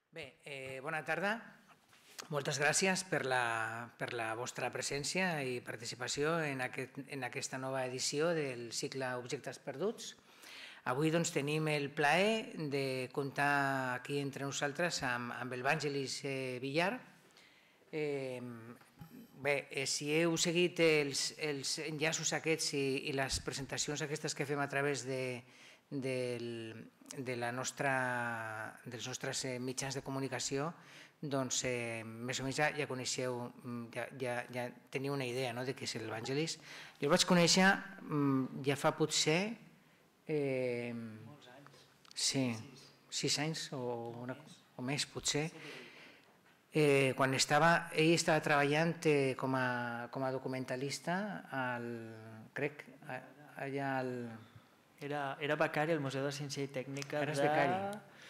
Bé, bona tarda. Moltes gràcies per la vostra presència i participació en aquesta nova edició del cicle Objectes Perduts. Avui tenim el plaer de comptar aquí entre nosaltres amb el Vangelis Villar. Bé, si heu seguit els enllaços aquests i les presentacions aquestes que fem a través dels nostres mitjans de comunicació, doncs més o menys ja coneixeu, ja teniu una idea de què és el Vangelis. Jo el vaig conèixer ja fa potser... Molts anys. Sí, 6 anys o més potser. Quan ell estava treballant com a documentalista, crec, allà al... Era becari al Museu de Ciència i Tècnica. Eres becari,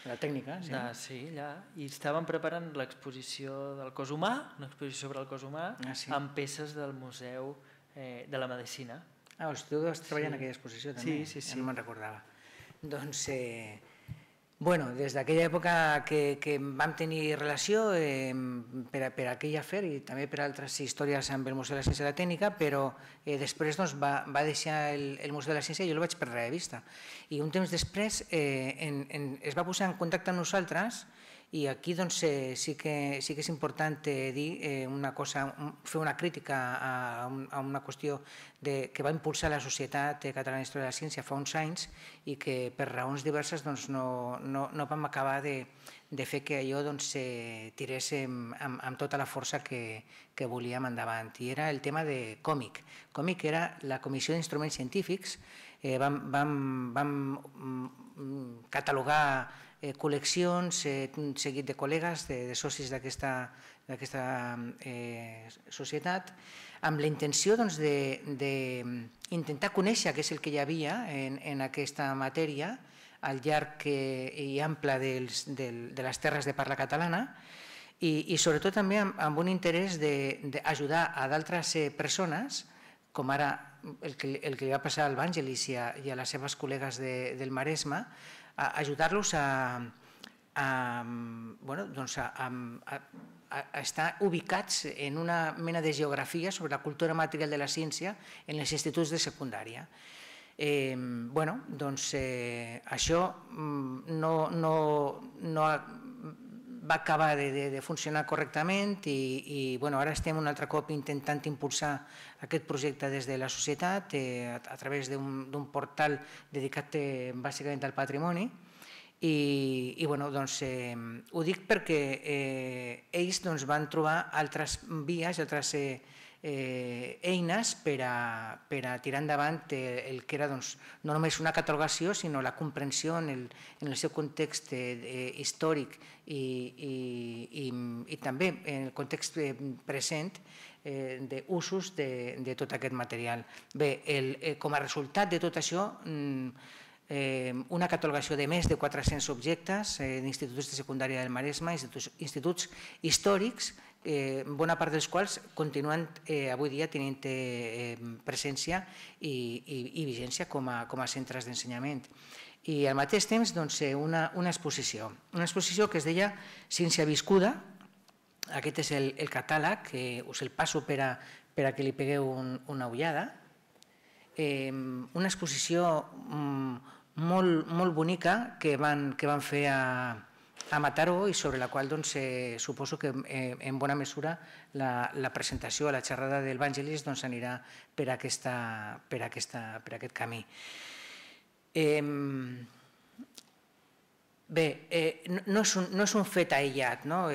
la tècnica, sí. Sí, allà. I estaven preparant l'exposició del cos humà, una exposició sobre el cos humà, amb peces del Museu de la Medicina. Tu vas treballar en aquella exposició també? Sí. No me'n recordava. Doncs, des d'aquella època que vam tenir relació per aquell afer i també per altres històries amb el Museu de la Ciència i la Tècnica, però després va deixar el Museu de la Ciència i jo el vaig perdre de vista. I un temps després es va posar en contacte amb nosaltres i aquí sí que és important dir una cosa, fer una crítica a una qüestió que va impulsar la Societat Catalana d'Història de la Ciència fa uns anys i que per raons diverses no vam acabar de fer que allò tirés amb tota la força que volíem endavant. I era el tema de còmic. Còmic era la Comissió d'Instruments Científics. Vam catalogar col·leccions, un seguit de col·legues, de socis d'aquesta societat, amb la intenció d'intentar conèixer què és el que hi havia en aquesta matèria al llarg i ample de les terres de parla catalana i sobretot també amb un interès d'ajudar a d'altres persones, com ara el que li va passar al Vangelis i a les seves col·legues del Maresme, a ajudar-los a estar ubicats en una mena de geografia sobre la cultura material de la ciència en els instituts de secundària. Això no va acabar de funcionar correctament i ara estem un altre cop intentant impulsar aquest projecte des de la societat a través d'un portal dedicat bàsicament al patrimoni i ho dic perquè ells van trobar altres vies, altres eines per a tirar endavant el que era no només una catalogació sinó la comprensió en el seu context històric i també en el context present d'usos de tot aquest material. Bé, com a resultat de tot això, una catalogació de més de 400 objectes d'instituts de secundària del Maresme, instituts històrics, bona part dels quals continuen avui dia tenint presència i vigència com a centres d'ensenyament. I al mateix temps una exposició que es deia Ciència Viscuda. Aquest és el catàleg, que us el passo per a que li pegueu una ullada. Una exposició molt bonica que van fer a Mataró i sobre la qual suposo que en bona mesura la presentació, la xerrada del Vangelis anirà per aquest camí. Bé, no és un fet aïllat. La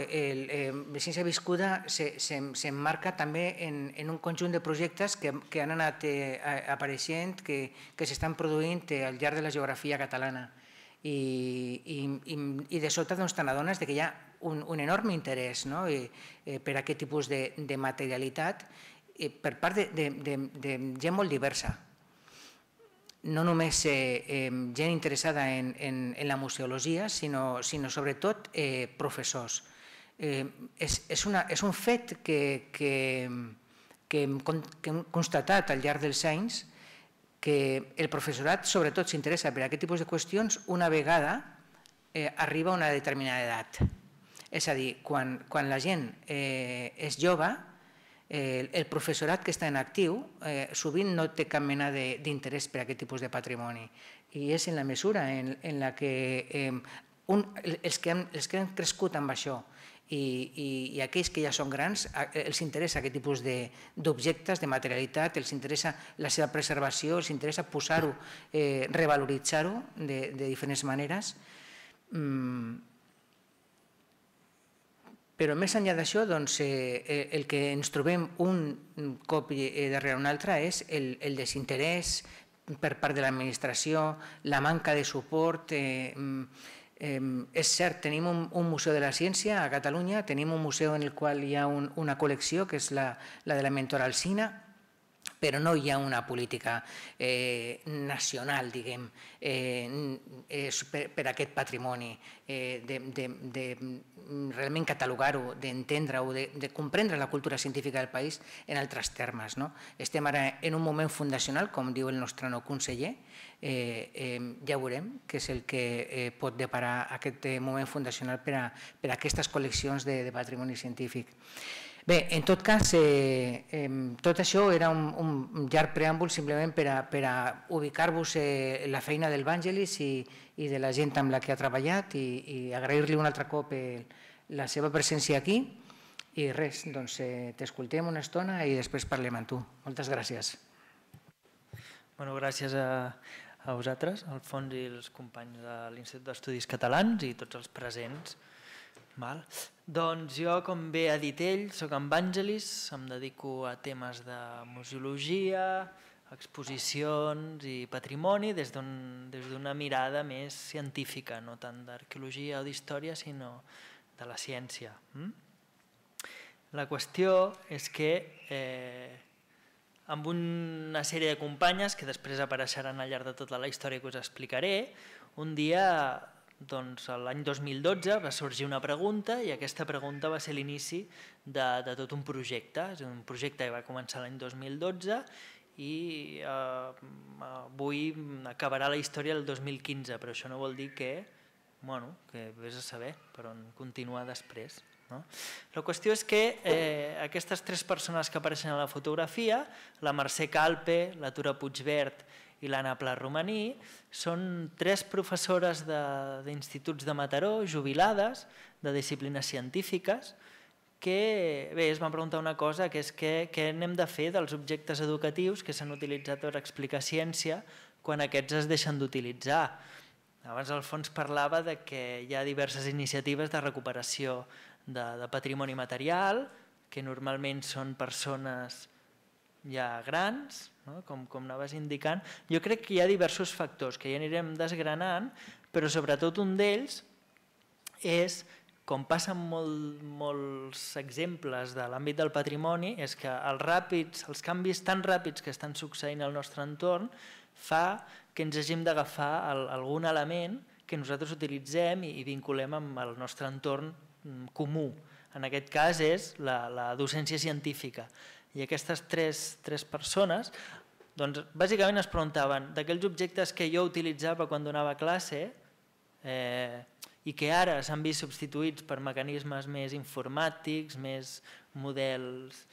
Ciència Viscuda s'emmarca també en un conjunt de projectes que han anat apareixent, que s'estan produint al llarg de la geografia catalana. I de sobte t'adones que hi ha un enorme interès per a aquest tipus de materialitat per part de gent molt diversa. No només gent interessada en la museologia, sinó sobretot professors. És un fet que hem constatat al llarg dels anys que el professorat sobretot s'interessa per aquest tipus de qüestions una vegada arriba a una determinada edat. És a dir, quan la gent és jove, el professorat que està en actiu sovint no té cap mena d'interès per aquest tipus de patrimoni, i és en la mesura en la que els que han crescut amb això i aquells que ja són grans els interessa aquest tipus d'objectes, de materialitat, els interessa la seva preservació, els interessa posar-ho, revaloritzar-ho de diferents maneres. Però més enllà d'això, el que ens trobem un cop darrere un altre és el desinterès per part de l'administració, la manca de suport. És cert, tenim un museu de la ciència a Catalunya, tenim un museu en el qual hi ha una col·lecció que és la de la mentora Alsina, però no hi ha una política nacional, diguem, per aquest patrimoni, de realment catalogar-ho, d'entendre-ho, de comprendre la cultura científica del país en altres termes. Estem ara en un moment fundacional, com diu el nostre nou conseller, ja veurem què és el que pot deparar aquest moment fundacional per a aquestes col·leccions de patrimoni científic. Bé, en tot cas, tot això era un llarg preàmbul simplement per a ubicar-vos la feina del Vangelis i de la gent amb la que ha treballat i agrair-li un altre cop la seva presència aquí. I res, doncs t'escoltem una estona i després parlem amb tu. Moltes gràcies. Gràcies a vosaltres, Alfons i els companys de l'Institut d'Estudis Catalans i tots els presents. Doncs jo, com bé ha dit ell, soc en Vangelis, em dedico a temes de museologia, exposicions i patrimoni des d'una mirada més científica, no tant d'arqueologia o d'història, sinó de la ciència. La qüestió és que amb una sèrie de companyes que després apareixeran al llarg de tota la història que us explicaré, un dia, l'any 2012, va sorgir una pregunta i aquesta pregunta va ser l'inici de tot un projecte. És un projecte que va començar l'any 2012 i avui acabarà la història el 2015, però això no vol dir que vés a saber per on continuar després. La qüestió és que aquestes tres persones que apareixen a la fotografia, la Mercè Calpe, la Tura Puigvert i l'Anna Pla Romaní, són tres professores d'instituts de Mataró, jubilades, de disciplines científiques, que es van preguntar una cosa, que és què n'hem de fer dels objectes educatius que s'han utilitzat per explicar ciència quan aquests es deixen d'utilitzar. Abans Alfons parlava que hi ha diverses iniciatives de recuperació de patrimoni material, que normalment són persones ja grans, com anaves indicant. Jo crec que hi ha diversos factors que ja anirem desgranant, però sobretot un d'ells és, com passa en molts exemples de l'àmbit del patrimoni, és que els canvis tan ràpids que estan succeint al nostre entorn fa que ens hàgim d'agafar algun element que nosaltres utilitzem i vinculem amb el nostre entorn comú. En aquest cas és la docència científica. I aquestes tres persones bàsicament es preguntaven d'aquells objectes que jo utilitzava quan donava classe i que ara s'han vist substituïts per mecanismes més informàtics, més models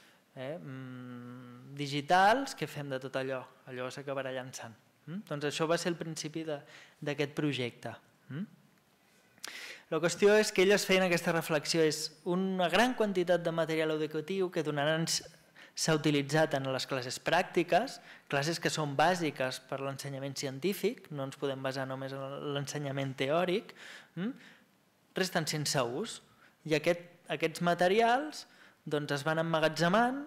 digitals, què fem de tot allò? Allò s'acabarà llançant. Doncs això va ser el principi d'aquest projecte. La qüestió és que elles feien aquesta reflexió, és una gran quantitat de material educatiu que s'ha utilitzat en les classes pràctiques, classes que són bàsiques per l'ensenyament científic, no ens podem basar només en l'ensenyament teòric, resten sense ús. I aquests materials es van emmagatzemant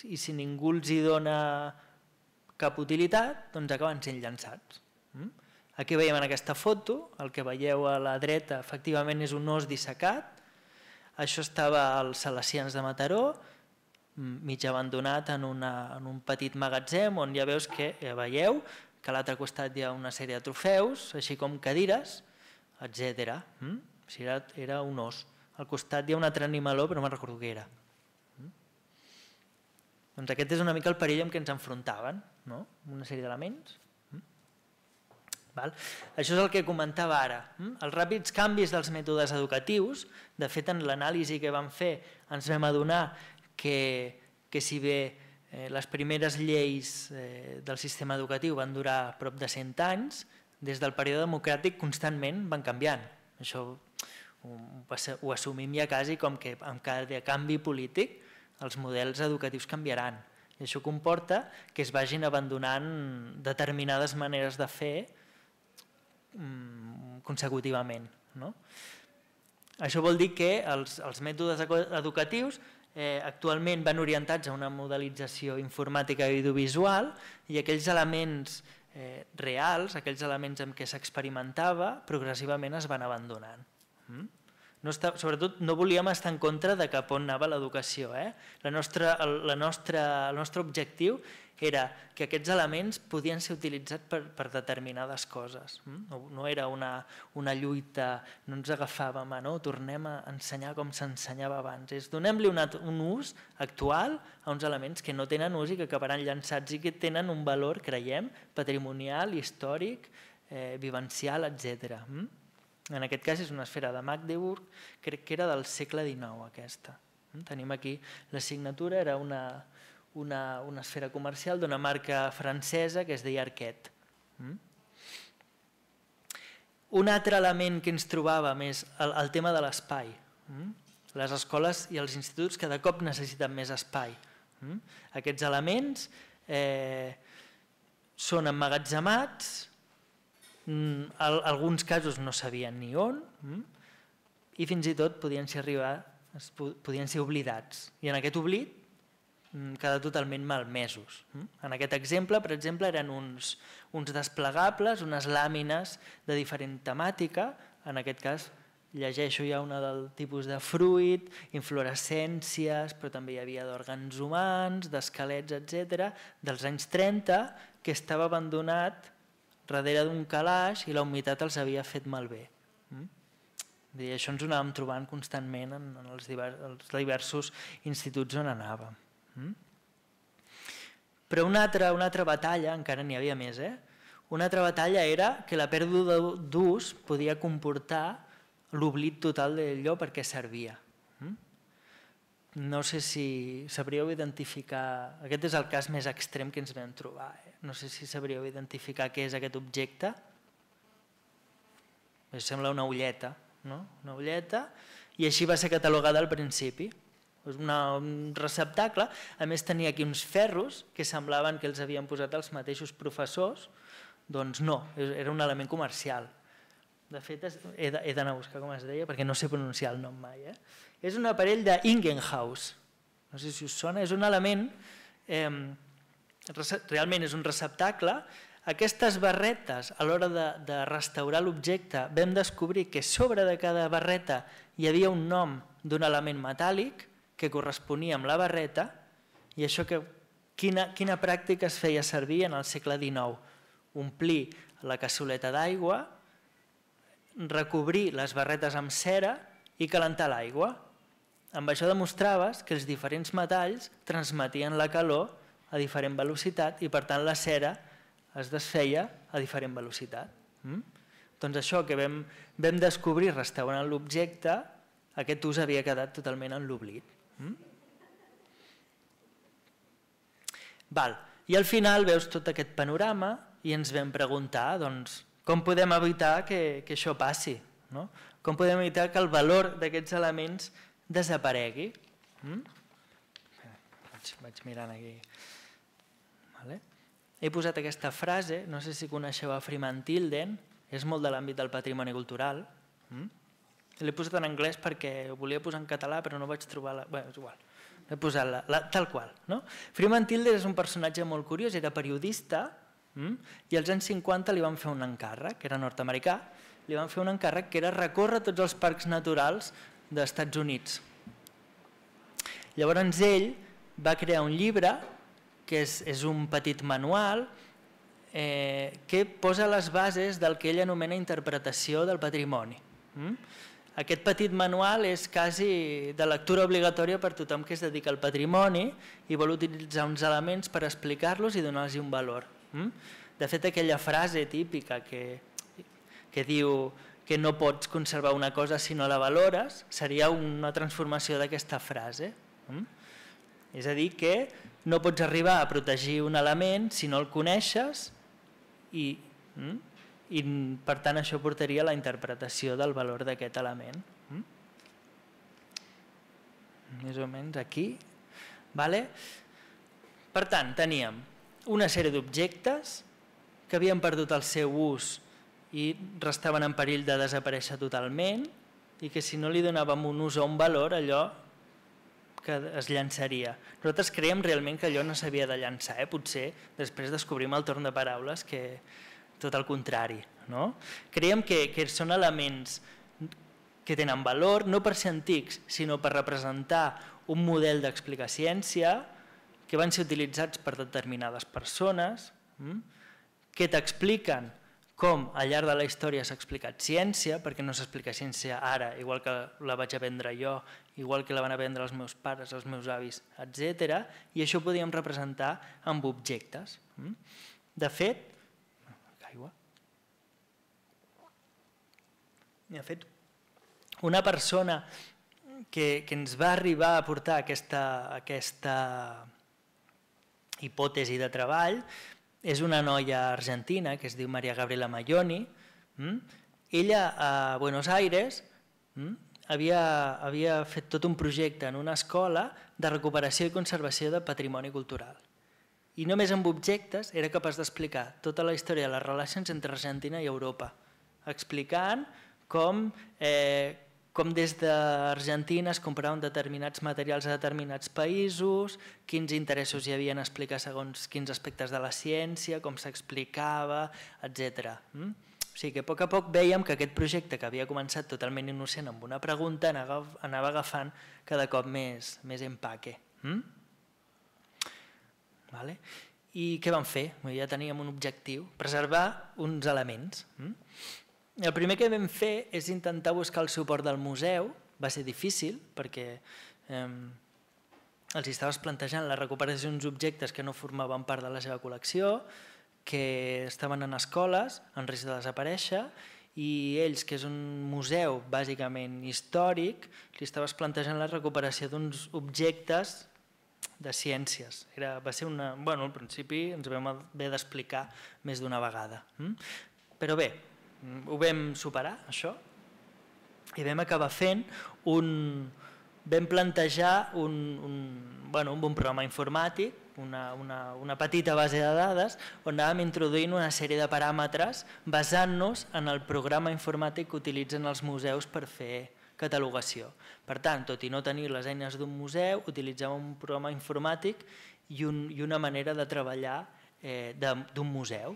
i si ningú els hi dona cap utilitat, acaben sent llançats. Aquí veiem en aquesta foto, el que veieu a la dreta efectivament és un os dissecat, això estava als Salesians de Mataró, mig abandonat en un petit magatzem on ja veieu que a l'altre costat hi ha una sèrie de trofeus, així com cadires, etc. Era un os. Al costat hi ha un altre animaló, però no me'n recordo què era. Doncs aquest és una mica el perill amb què ens enfrontaven, una sèrie d'elements. Això és el que comentava ara. Els ràpids canvis dels mètodes educatius, de fet en l'anàlisi que vam fer ens vam adonar que si bé les primeres lleis del sistema educatiu van durar prop de 100 anys, des del període democràtic constantment van canviant. Això ho assumim ja quasi com que amb cada canvi polític els models educatius canviaran. I això comporta que es vagin abandonant determinades maneres de fer consecutivament. Això vol dir que els mètodes educatius actualment van orientats a una modelització informàtica i audiovisual i aquells elements reals, aquells elements amb què s'experimentava, progressivament es van abandonant. Sobretot no volíem estar en contra de cap on anava l'educació. El nostre objectiu era que aquests elements podien ser utilitzats per determinades coses. No era una lluita, no ens agafàvem a tornem a ensenyar com s'ensenyava abans. Donem-li un ús actual a uns elements que no tenen ús i que acabaran llançats i que tenen un valor, creiem, patrimonial, històric, vivencial, etc. En aquest cas és una esfera de Magdeburg, crec que era del segle XIX aquesta. Tenim aquí la signatura, era una esfera comercial d'una marca francesa que es deia Arquette. Un altre element que ens trobàvem és el tema de l'espai. Les escoles i els instituts cada cop necessiten més espai. Aquests elements són emmagatzemats, en alguns casos no sabien ni on i fins i tot podien ser oblidats. I en aquest oblit quedar totalment malmesos. En aquest exemple, per exemple, eren uns desplegables, unes làmines de diferent temàtica, en aquest cas llegeixo ja una del tipus de fruit, inflorescències, però també hi havia d'òrgans humans, d'esquelets, etc., dels anys 30, que estava abandonat darrere d'un calaix i la humitat els havia fet malbé. I això ens ho anàvem trobant constantment en els diversos instituts on anàvem. Però una altra batalla, encara n'hi havia més, una altra batalla era que la pèrdua d'ús podia comportar l'oblit total d'allò per què servia. No sé si sabríeu identificar, aquest és el cas més extrem que ens vam trobar, no sé si sabríeu identificar què és aquest objecte. Sembla una ulleta, no? Una ulleta, i així va ser catalogada al principi. És un receptacle, a més tenia aquí uns ferros que semblaven que els havien posat els mateixos professors, doncs no, era un element comercial. De fet, he d'anar a buscar com es deia perquè no sé pronunciar el nom mai. És un aparell d'Ingenhaus, no sé si us sona, és un element, realment és un receptacle. Aquestes barretes, a l'hora de restaurar l'objecte, vam descobrir que sobre de cada barreta hi havia un nom d'un element metàl·lic que corresponia amb la barreta, i això quina pràctica es feia servir en el segle XIX? Omplir la cassoleta d'aigua, recobrir les barretes amb cera i calentar l'aigua. Amb això demostraves que els diferents metalls transmetien la calor a diferent velocitat i per tant la cera es desfeia a diferent velocitat. Doncs això que vam descobrir restaurant l'objecte, aquest ús havia quedat totalment en l'oblit. I al final veus tot aquest panorama i ens vam preguntar com podem evitar que això passi, com podem evitar que el valor d'aquests elements desaparegui. Vaig mirant aquí. He posat aquesta frase, no sé si coneixeu a Freeman Tilden, és molt de l'àmbit del patrimoni cultural. L'he posat en anglès perquè ho volia posar en català però no vaig trobar-la. Bé, és igual, l'he posat tal qual. Freeman Tilden és un personatge molt curiós, era periodista i als anys 50 li van fer un encàrrec, que era nord-americà, li van fer un encàrrec que era recórrer tots els parcs naturals dels Estats Units. Llavors ell va crear un llibre que és un petit manual que posa les bases del que ell anomena interpretació del patrimoni. Aquest petit manual és quasi de lectura obligatòria per tothom que es dedica al patrimoni i vol utilitzar uns elements per explicar-los i donar-los un valor. De fet, aquella frase típica que diu que no pots conservar una cosa si no la valores, seria una transformació d'aquesta frase. És a dir, que no pots arribar a protegir un element si no el coneixes i per tant això portaria a la interpretació del valor d'aquest element. Més o menys aquí. Per tant, teníem una sèrie d'objectes que havien perdut el seu ús i restaven en perill de desaparèixer totalment i que si no li donàvem un ús o un valor, allò que es llançaria. Nosaltres creiem realment que allò no s'havia de llançar, potser després descobrim el torn de paraules que tot el contrari. Creiem que són elements que tenen valor, no per ser antics, sinó per representar un model d'explicar ciència que van ser utilitzats per determinades persones, que t'expliquen com al llarg de la història s'ha explicat ciència, perquè no s'explica ciència ara, igual que la vaig aprendre jo, igual que la van aprendre els meus pares, els meus avis, etc. I això ho podíem representar amb objectes. De fet, una persona que ens va arribar a portar aquesta hipòtesi de treball és una noia argentina que es diu Maria Gabriela Maioni. Ella a Buenos Aires havia fet tot un projecte en una escola de recuperació i conservació de patrimoni cultural. I només amb objectes era capaç d'explicar tota la història de les relacions entre Argentina i Europa, explicant com des d'Argentina es compraven determinats materials a determinats països, quins interessos hi havia en explicar segons quins aspectes de la ciència, com s'explicava, etc. O sigui que a poc vèiem que aquest projecte que havia començat totalment innocent amb una pregunta anava agafant cada cop més empaque. I què vam fer? Ja teníem un objectiu, preservar uns elements. El primer que vam fer és intentar buscar el suport del museu. Va ser difícil perquè els estaves plantejant la recuperació d'uns objectes que no formaven part de la seva col·lecció, que estaven en escoles en risc de desaparèixer, i ells, que és un museu bàsicament històric, li estaves plantejant la recuperació d'uns objectes de ciències. Va ser al principi ens vam haver d'explicar més d'una vegada. Però bé, ho vam superar, això, i vam acabar fent vam plantejar un programa informàtic, una petita base de dades, on anàvem introduint una sèrie de paràmetres basant-nos en el programa informàtic que utilitzen els museus per fer catalogació. Per tant, tot i no tenir les eines d'un museu, utilitzàvem un programa informàtic i una manera de treballar d'un museu.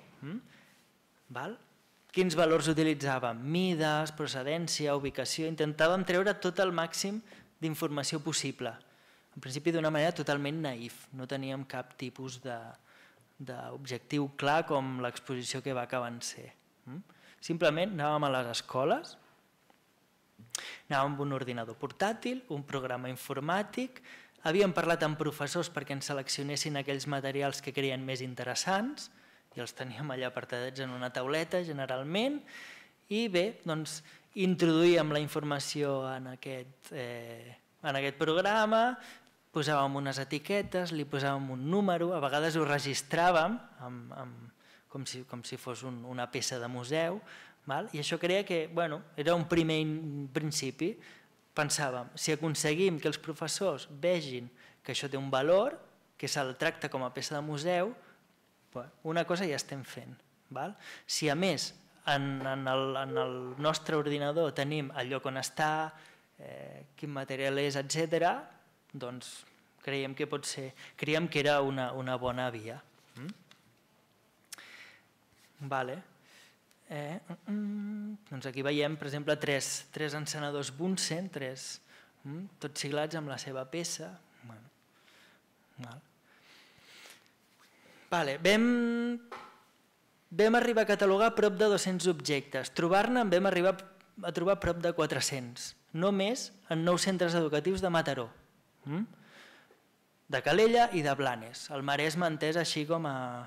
Quins valors utilitzàvem? Mides, procedència, ubicació. Intentàvem treure tot el màxim d'informació possible. En principi d'una manera totalment naïf. No teníem cap tipus d'objectiu clar com l'exposició que va acabar en ser. Simplement anàvem a les escoles, anàvem amb un ordinador portàtil, un programa informàtic, havíem parlat amb professors perquè ens seleccionessin aquells materials que creien més interessants, i els teníem allà apartadets en una tauleta generalment, i bé, doncs introduïem la informació en aquest programa, posàvem unes etiquetes, li posàvem un número, a vegades ho registràvem com si fos una peça de museu, i això creia que era un primer principi. Pensàvem, si aconseguim que els professors vegin que això té un valor, que se'l tracta com a peça de museu, una cosa ja estem fent. Si a més en el nostre ordinador tenim el lloc on està, quin material és, etc., doncs creiem que pot ser, creiem que era una bona via. Doncs aquí veiem, per exemple, tres encenedors Bunsen, tots siglats amb la seva peça. Vam arribar a catalogar prop de 200 objectes. Trobar-ne en vam arribar a trobar prop de 400, només en 9 centres educatius de Mataró, de Calella i de Blanes. El Maresme entès així com a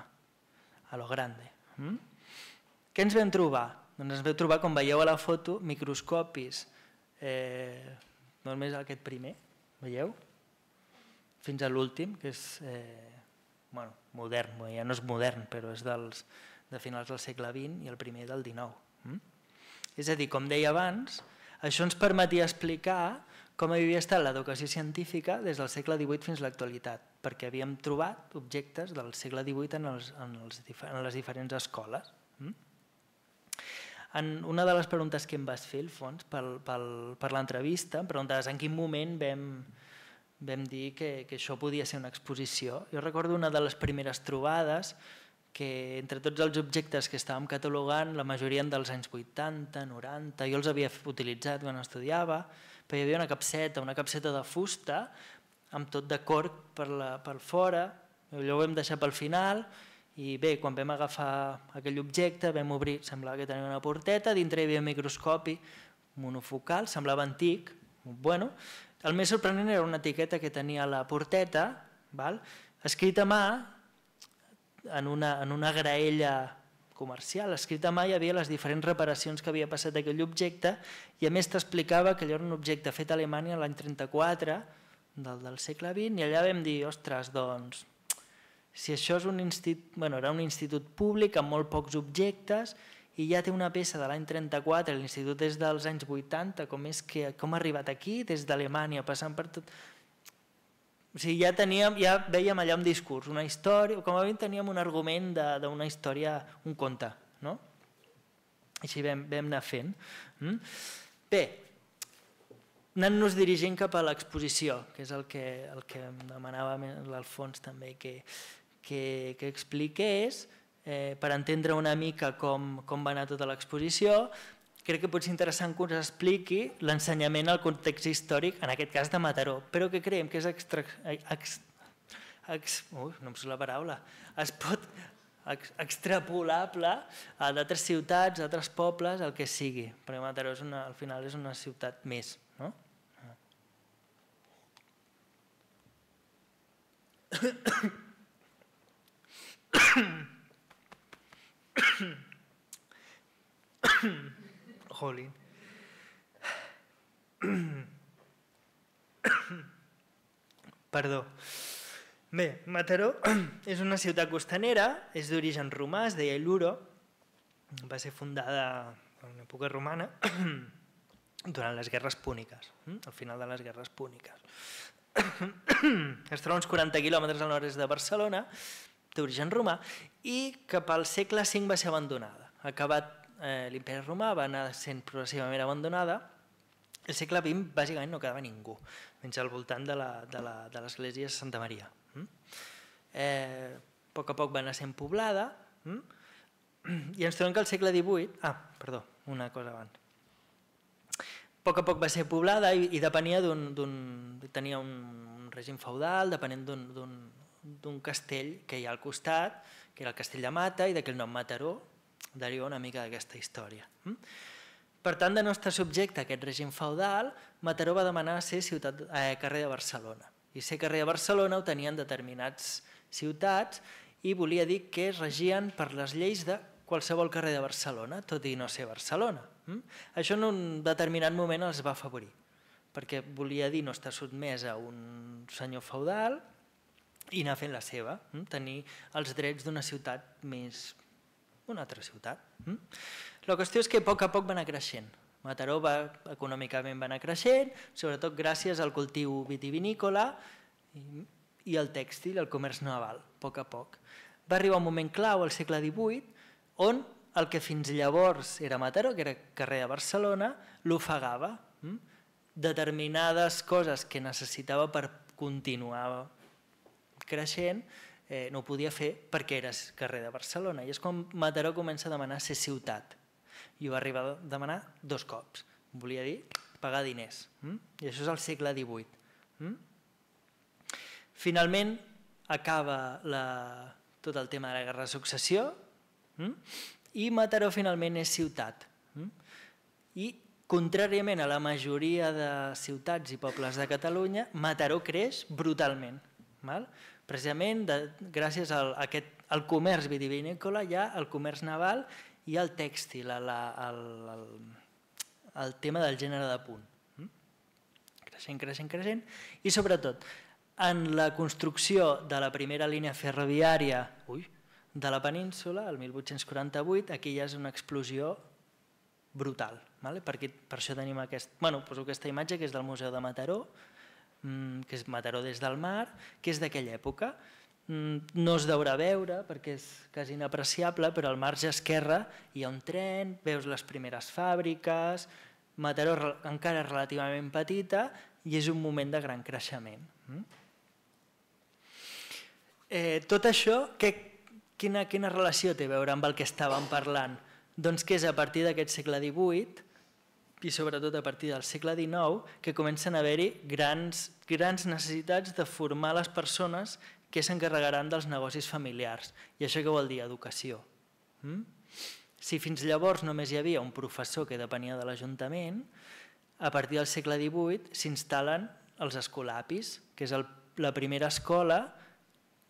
lo grande. Què ens vam trobar? Doncs ens vam trobar, com veieu a la foto, microscopis, només aquest primer, veieu? Fins a l'últim, que és modern, ja no és modern, però és de finals del segle XX i el primer del XIX. És a dir, com deia abans, això ens permetia explicar com havia estat l'educació científica des del segle XVIII fins a l'actualitat, perquè havíem trobat objectes del segle XVIII en les diferents escoles. Una de les preguntes que em vas fer, Alfons, per l'entrevista, em preguntaves en quin moment vam dir que això podia ser una exposició. Jo recordo una de les primeres trobades que entre tots els objectes que estàvem catalogant, la majoria dels anys 80, 90, jo els havia utilitzat quan estudiava, però hi havia una capseta de fusta amb tot de corc per fora, allò ho vam deixar pel final i bé, quan vam agafar aquell objecte vam obrir, semblava que tenia una porteta, dintre hi havia un microscopi monofocal, semblava antic, bueno, el més sorprenent era una etiqueta que tenia a la porteta, escrita a mà, en una graella comercial, escrita a mà hi havia les diferents reparacions que havia passat aquell objecte i a més t'explicava que allò era un objecte fet a Alemanya l'any 34 del segle XX i allà vam dir, ostres, doncs, si això és era un institut públic amb molt pocs objectes i ja té una peça de l'any 34, l'institut és dels anys 80, com ha arribat aquí, des d'Alemanya, passant per tot... O sigui, ja vèiem allà un discurs, una història, com a mínim teníem un argument d'una història, un conte, no? Així vam anar fent. Bé, anant-nos dirigint cap a l'exposició, que és el que em demanava l'Alfons també que expliqués, per entendre una mica com va anar tota l'exposició. Crec que pot ser interessant que us expliqui l'ensenyament al context històric, en aquest cas de Mataró, però que creiem que és no em surt la paraula, es pot extrapolable a d'altres ciutats, a altres pobles, el que sigui, perquè Mataró al final és una ciutat més, no? Jolín. Perdó. Bé, Mataró és una ciutat costanera, és d'origen romà, es deia Iluro, va ser fundada en època romana durant les guerres púniques, al final de les guerres púniques. Es troba uns 40 quilòmetres al nord-est de Barcelona, d'origen romà, i cap al segle V va ser abandonada. Acabat l'imperi romà va anar sent progressivament abandonada. El segle XX bàsicament no quedava ningú, menys al voltant de l'església de Santa Maria. A poc a poc va anar sent poblada i ens trobem que al segle XVIII... perdó, una cosa abans. A poc a poc va ser poblada i depenia tenia un règim feudal, depenent d'un castell que hi ha al costat, que era el castell de Mata, i d'aquell nom Mataró deriva una mica d'aquesta història. Per tant, de no estar subjecte a aquest règim feudal, Mataró va demanar ser carrer de Barcelona. I ser carrer de Barcelona ho tenien determinats ciutats i volia dir que es regien per les lleis de qualsevol carrer de Barcelona, tot i no ser Barcelona. Això en un determinat moment els va afavorir, perquè volia dir no estar sotmès a un senyor feudal i anar fent la seva, tenir els drets d'una ciutat més una altra ciutat. La qüestió és que a poc va anar creixent. Mataró econòmicament va anar creixent, sobretot gràcies al cultiu vitivinícola i al tèxtil, al comerç naval, a poc. Va arribar un moment clau al segle XVIII on el que fins llavors era Mataró, que era carrer de Barcelona, l'ofegava. Determinades coses que necessitava per continuar creixent no ho podia fer perquè era carrer de Barcelona. I és quan Mataró comença a demanar ser ciutat. I ho va arribar a demanar 2 cops. Volia dir pagar diners. I això és al segle XVIII. Finalment acaba tot el tema de la guerra de successió i Mataró finalment és ciutat. I contràriament a la majoria de ciutats i pobles de Catalunya, Mataró creix brutalment. Precisament gràcies al comerç vitivinícola hi ha el comerç naval i el tèxtil, el tema del gènere de punt. Creixent. I sobretot, en la construcció de la primera línia ferroviària de la península, el 1848, aquí ja és una explosió brutal. Per això tenim aquesta imatge que és del Museu de Mataró, que és Mataró des del mar, que és d'aquella època. No es deurà veure perquè és quasi inapreciable, però al marge esquerre hi ha un tren, veus les primeres fàbriques, Mataró encara és relativament petita i és un moment de gran creixement. Tot això, quina relació té a veure amb el que estàvem parlant? Doncs que és a partir d'aquest segle XVIII i sobretot a partir del segle XIX que comencen a haver-hi grans necessitats de formar les persones que s'encarregaran dels negocis familiars. I això què vol dir? Educació. Si fins llavors només hi havia un professor que depenia de l'Ajuntament, a partir del segle XVIII s'instal·len els escolapis, que és la primera escola,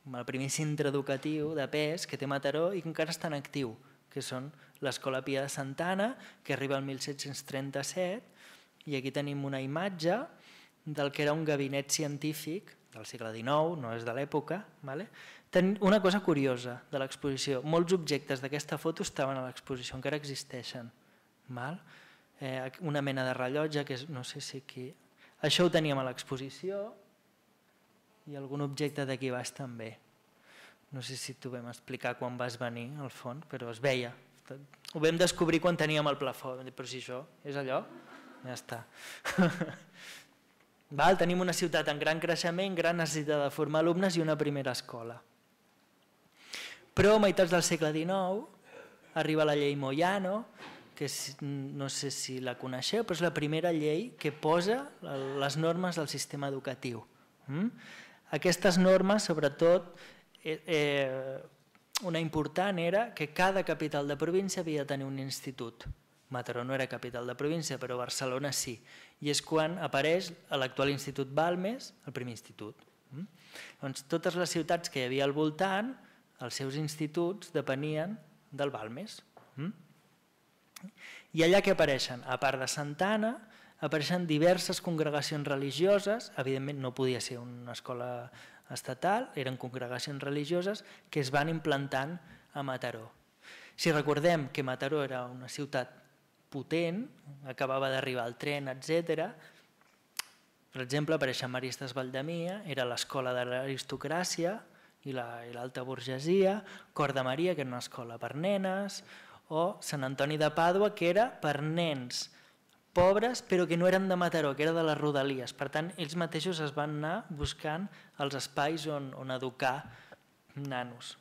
el primer centre educatiu de pes que té Mataró i que encara està en actiu, que són l'Escola Pia de Santa Anna, que arriba al 1737, i aquí tenim una imatge del que era un gabinet científic del segle XIX, no és de l'època. Una cosa curiosa de l'exposició, molts objectes d'aquesta foto estaven a l'exposició, encara existeixen. Una mena de rellotge, que no sé si aquí... Això ho teníem a l'exposició i algun objecte d'aquí baix també. No sé si t'ho vam explicar quan vas venir al fons, però es veia. Ho vam descobrir quan teníem el plafó, però si això és allò, ja està. Tenim una ciutat en gran creixement, gran necessitat de formar alumnes i una primera escola. Però a meitats del segle XIX arriba la llei Moyano, que no sé si la coneixeu, però és la primera llei que posa les normes del sistema educatiu. Aquestes normes, sobretot, una important era que cada capital de província havia de tenir un institut. Mataró no era capital de província, però Barcelona sí. I és quan apareix l'actual Institut Balmes, el primer institut. Totes les ciutats que hi havia al voltant, els seus instituts depenien del Balmes. I allà què apareixen? A part de Santa Anna, apareixen diverses congregacions religioses, evidentment no podia ser una escola estatal, eren congregacions religioses que es van implantant a Mataró. Si recordem que Mataró era una ciutat potent, acabava d'arribar el tren, etc. Per exemple, apareix Maristes Valdemia, era l'escola de l'aristocràcia i l'alta burgesia, Cor de Maria, que era una escola per nenes, o Sant Antoni de Pàdua, que era per nens pobres però que no eren de Mataró, que era de les rodalies. Per tant, ells mateixos es van anar buscant els espais on educar nanos.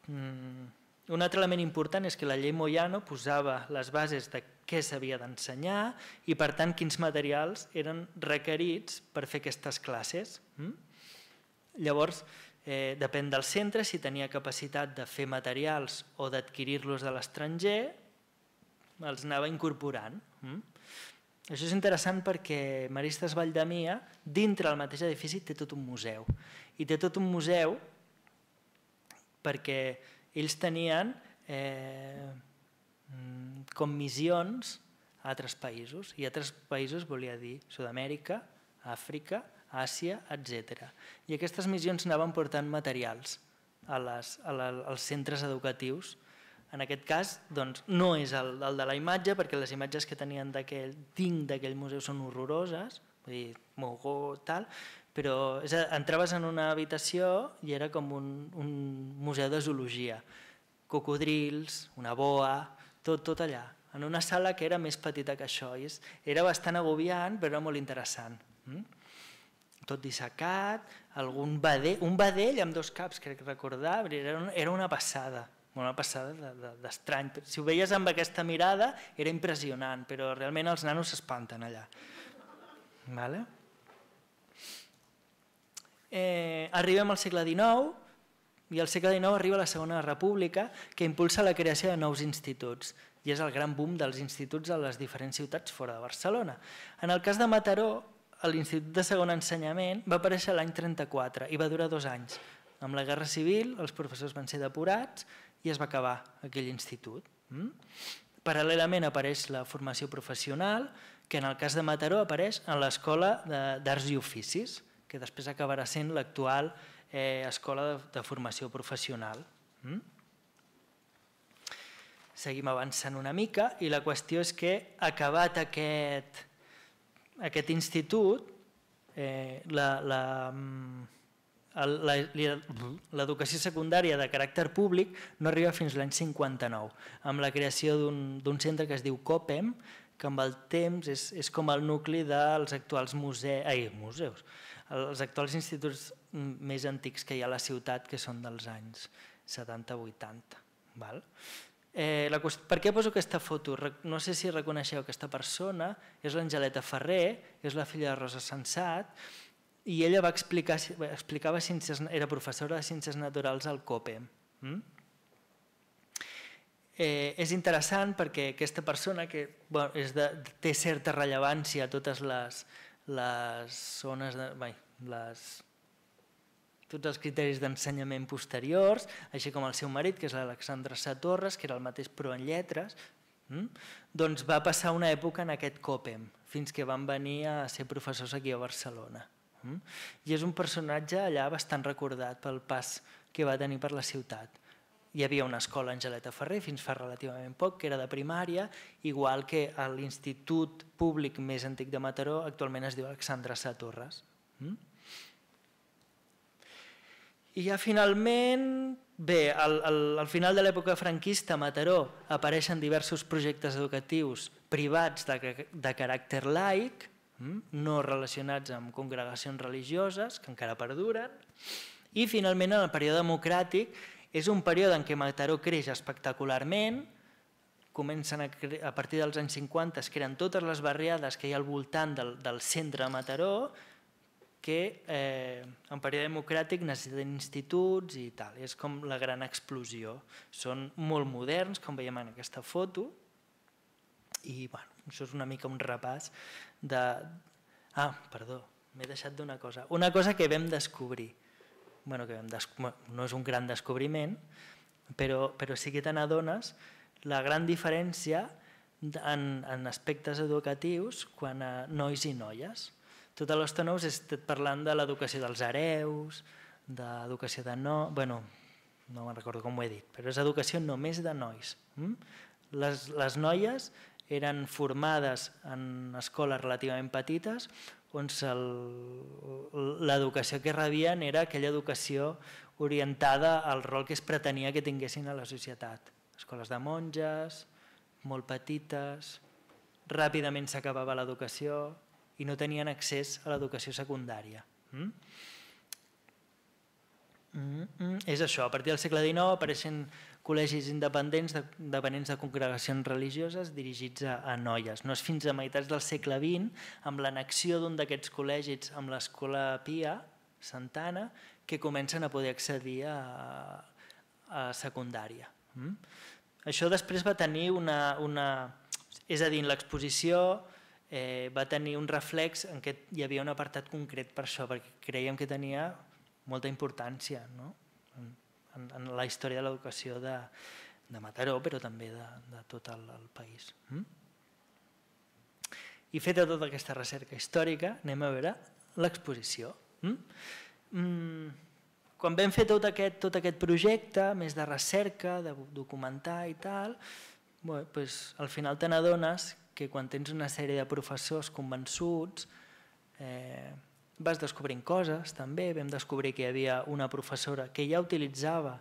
Un altre element important és que la llei Moyano posava les bases de què s'havia d'ensenyar i, per tant, quins materials eren requerits per fer aquestes classes. Llavors, depèn del centre, si tenia capacitat de fer materials o d'adquirir-los de l'estranger, els anava incorporant. Això és interessant perquè Maristes Valdemia, dintre del mateix edifici, té tot un museu. I té tot un museu perquè ells tenien com missions a altres països. I altres països volia dir Sud-amèrica, Àfrica, Àsia, etc. I aquestes missions anaven portant materials als centres educatius. En aquest cas no és el de la imatge, perquè les imatges que tenien d'aquell museu són horroroses, vull dir, mogó, tal, però entraves en una habitació i era com un museu de zoologia. Cocodrils, una boa, tot allà, en una sala que era més petita que això. Era bastant agobiant, però era molt interessant. Tot dissecat, un vedell amb 2 caps, crec recordar, era una passada d'estrany. Si ho veies amb aquesta mirada era impressionant, però realment els nanos s'espanten allà. Arribem al segle XIX i al segle XIX arriba la Segona República, que impulsa la creació de nous instituts i és el gran boom dels instituts a les diferents ciutats fora de Barcelona. En el cas de Mataró, l'Institut de Segon Ensenyament va aparèixer l'any 34 i va durar 2 anys. Amb la Guerra Civil els professors van ser depurats i es va acabar aquell institut. Paral·lelament apareix la formació professional, que en el cas de Mataró apareix en l'Escola d'Arts i Oficis, que després acabarà sent l'actual Escola de Formació Professional. Seguim avançant una mica i la qüestió és que, acabat aquest institut, l'educació secundària de caràcter públic no arriba fins l'any 59, amb la creació d'un centre que es diu COPEM, que amb el temps és com el nucli dels actuals museus, els actuals instituts més antics que hi ha a la ciutat, que són dels anys 70-80. Per què poso aquesta foto? No sé si reconeixeu aquesta persona, és l'Angeleta Ferrer, és la filla de Rosa Sensat, i ella explicava ciències, era professora de Ciències Naturals al COPEM. És interessant perquè aquesta persona, que té certa rellevància a totes les zones, tots els criteris d'ensenyament posteriors, així com el seu marit, que és l'Alexandre Satorres, que era el mateix però en lletres, doncs va passar una època en aquest COPEM, fins que van venir a ser professors aquí a Barcelona. I és un personatge allà bastant recordat pel pas que va tenir per la ciutat. Hi havia una escola Angeleta Ferrer fins fa relativament poc, que era de primària, igual que l'Institut Públic més antic de Mataró actualment es diu Alexandre Satorres. I ja finalment, bé, al final de l'època franquista a Mataró apareixen diversos projectes educatius privats de caràcter laic, no relacionats amb congregacions religioses, que encara perduren, i finalment en el període democràtic és un període en què Mataró creix espectacularment, comencen a partir dels anys 50, es creen totes les barriades que hi ha al voltant del centre de Mataró, que en període democràtic necessiten instituts i tal, és com la gran explosió. Són molt moderns, com veiem en aquesta foto, i això és una mica un repàs de... Perdó, m'he deixat d'una cosa. Una cosa que vam descobrir, no és un gran descobriment, però sí que te n'adones la gran diferència en aspectes educatius quan a nois i noies. Tota l'estona us he estat parlant de l'educació dels hereus, d'educació de no me'n recordo com ho he dit, però és educació només de nois. Les noies eren formades en escoles relativament petites on l'educació que rebien era aquella educació orientada al rol que es pretenia que tinguessin a la societat. Escoles de monges, molt petites, ràpidament s'acabava l'educació i no tenien accés a l'educació secundària. És això, a partir del segle XIX apareixen col·legis independents dependents de congregacions religioses dirigits a noies. No és fins a meitats del segle XX, amb l'annexió d'un d'aquests col·legis amb l'Escola Pia, Santana, que comencen a poder accedir a secundària. Això després va tenir és a dir, l'exposició va tenir un reflex en què hi havia un apartat concret per això, perquè creiem que tenia molta importància en la història de l'educació de Mataró, però també de tot el país. I feta tota aquesta recerca històrica, anem a veure l'exposició. Quan vam fer tot aquest projecte, més de recerca, de documentar i tal, al final te n'adones que quan tens una sèrie de professors convençuts vas descobrint coses també. Vam descobrir que hi havia una professora que ja utilitzava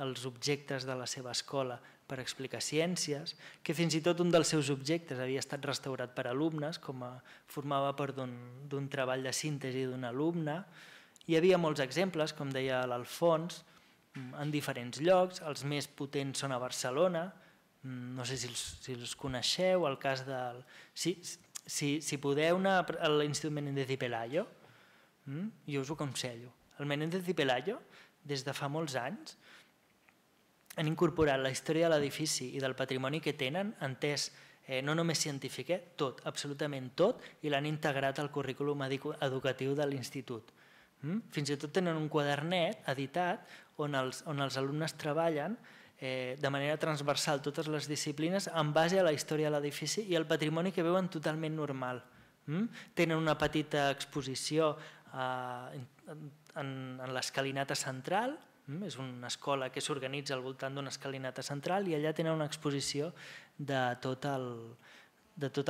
els objectes de la seva escola per explicar ciències, que fins i tot un dels seus objectes havia estat restaurat per alumnes, formava part d'un treball de síntesi d'un alumne. Hi havia molts exemples, com deia l'Alfons, en diferents llocs. Els més potents són a Barcelona, no sé si els coneixeu, el cas del... Si podeu anar a l'Institut Menéndez y Pelayo, jo us ho aconsello. El Menéndez y Pelayo, des de fa molts anys, han incorporat la història de l'edifici i del patrimoni que tenen, entès no només científic, tot, absolutament tot, i l'han integrat al currículum educatiu de l'institut. Fins i tot tenen un quadernet editat on els alumnes treballen de manera transversal totes les disciplines en base a la història de l'edifici i el patrimoni que veuen totalment normal. Tenen una petita exposició en l'escalinata central, és una escola que s'organitza al voltant d'una escalinata central i allà tenen una exposició de tota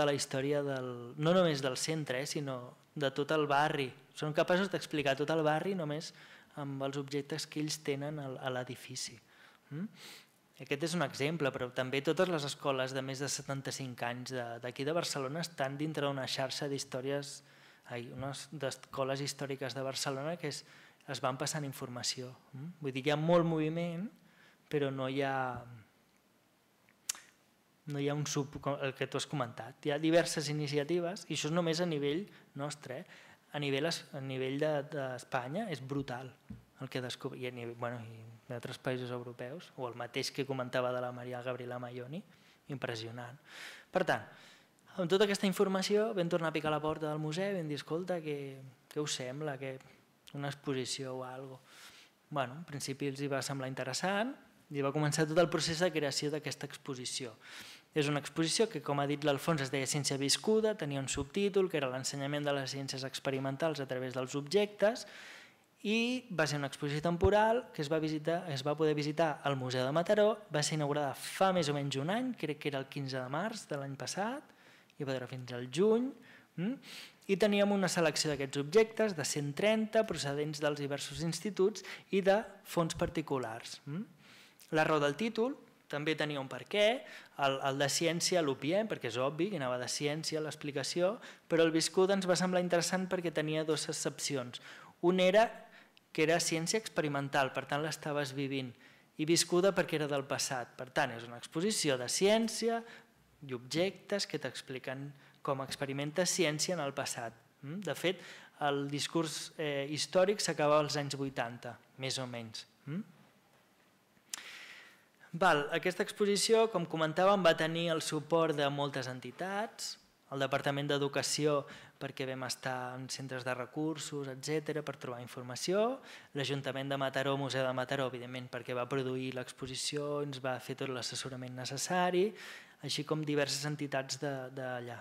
la història, no només del centre, sinó de tot el barri. Són capaços d'explicar tot el barri només amb els objectes que ells tenen a l'edifici. Aquest és un exemple, però també totes les escoles de més de 75 anys d'aquí de Barcelona estan dintre d'una xarxa d'històries, d'escoles històriques de Barcelona que es van passant informació. Vull dir que hi ha molt moviment, però no hi ha un el que tu has comentat. Hi ha diverses iniciatives i això és només a nivell nostre. A nivell d'Espanya és brutal el que descobrim, i d'altres països europeus, o el mateix que comentava de la Maria Gabriela Maioni, impressionant. Per tant, amb tota aquesta informació vam tornar a picar a la porta del museu i vam dir, escolta, què us sembla, una exposició o alguna cosa. En principi els va semblar interessant i va començar tot el procés de creació d'aquesta exposició. És una exposició que, com ha dit l'Alfons, es deia Ciència viscuda, tenia un subtítol que era l'ensenyament de les ciències experimentals a través dels objectes i va ser una exposició temporal que es va poder visitar al Museu de Mataró, va ser inaugurada fa més o menys un any, crec que era el 15 de març de l'any passat, i va durar fins al juny, i teníem una selecció d'aquests objectes, de 130 procedents dels diversos instituts i de fons particulars. La raó del títol també tenia un per què, el de ciència l'obviem perquè és obvi que anava de ciència l'explicació, però el viscuda ens va semblar interessant perquè tenia dues excepcions. Un era que era ciència experimental, per tant l'estaves vivint, i viscuda perquè era del passat. Per tant, és una exposició de ciència i objectes que t'expliquen com experimentes ciència en el passat. De fet, el discurs històric s'acaba als anys 80, més o menys. Aquesta exposició, com comentàvem, va tenir el suport de moltes entitats, el Departament d'Educació perquè vam estar en centres de recursos, etc., per trobar informació, l'Ajuntament de Mataró, Museu de Mataró, evidentment, perquè va produir l'exposició, ens va fer tot l'assessorament necessari, així com diverses entitats d'allà.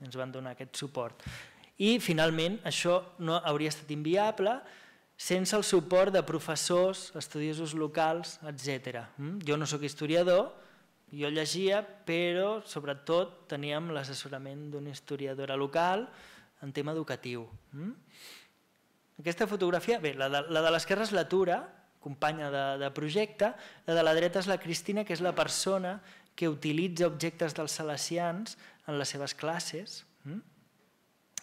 Ens van donar aquest suport. I, finalment, això no hauria estat inviable sense el suport de professors, estudiosos locals, etc. Jo no sóc historiador, jo llegia, però sobretot teníem l'assessorament d'una historiadora local en tema educatiu. Aquesta fotografia, bé, la de l'esquerra és la Tura, companya de projecte, la de la dreta és la Cristina, que és la persona que utilitza objectes dels salesians en les seves classes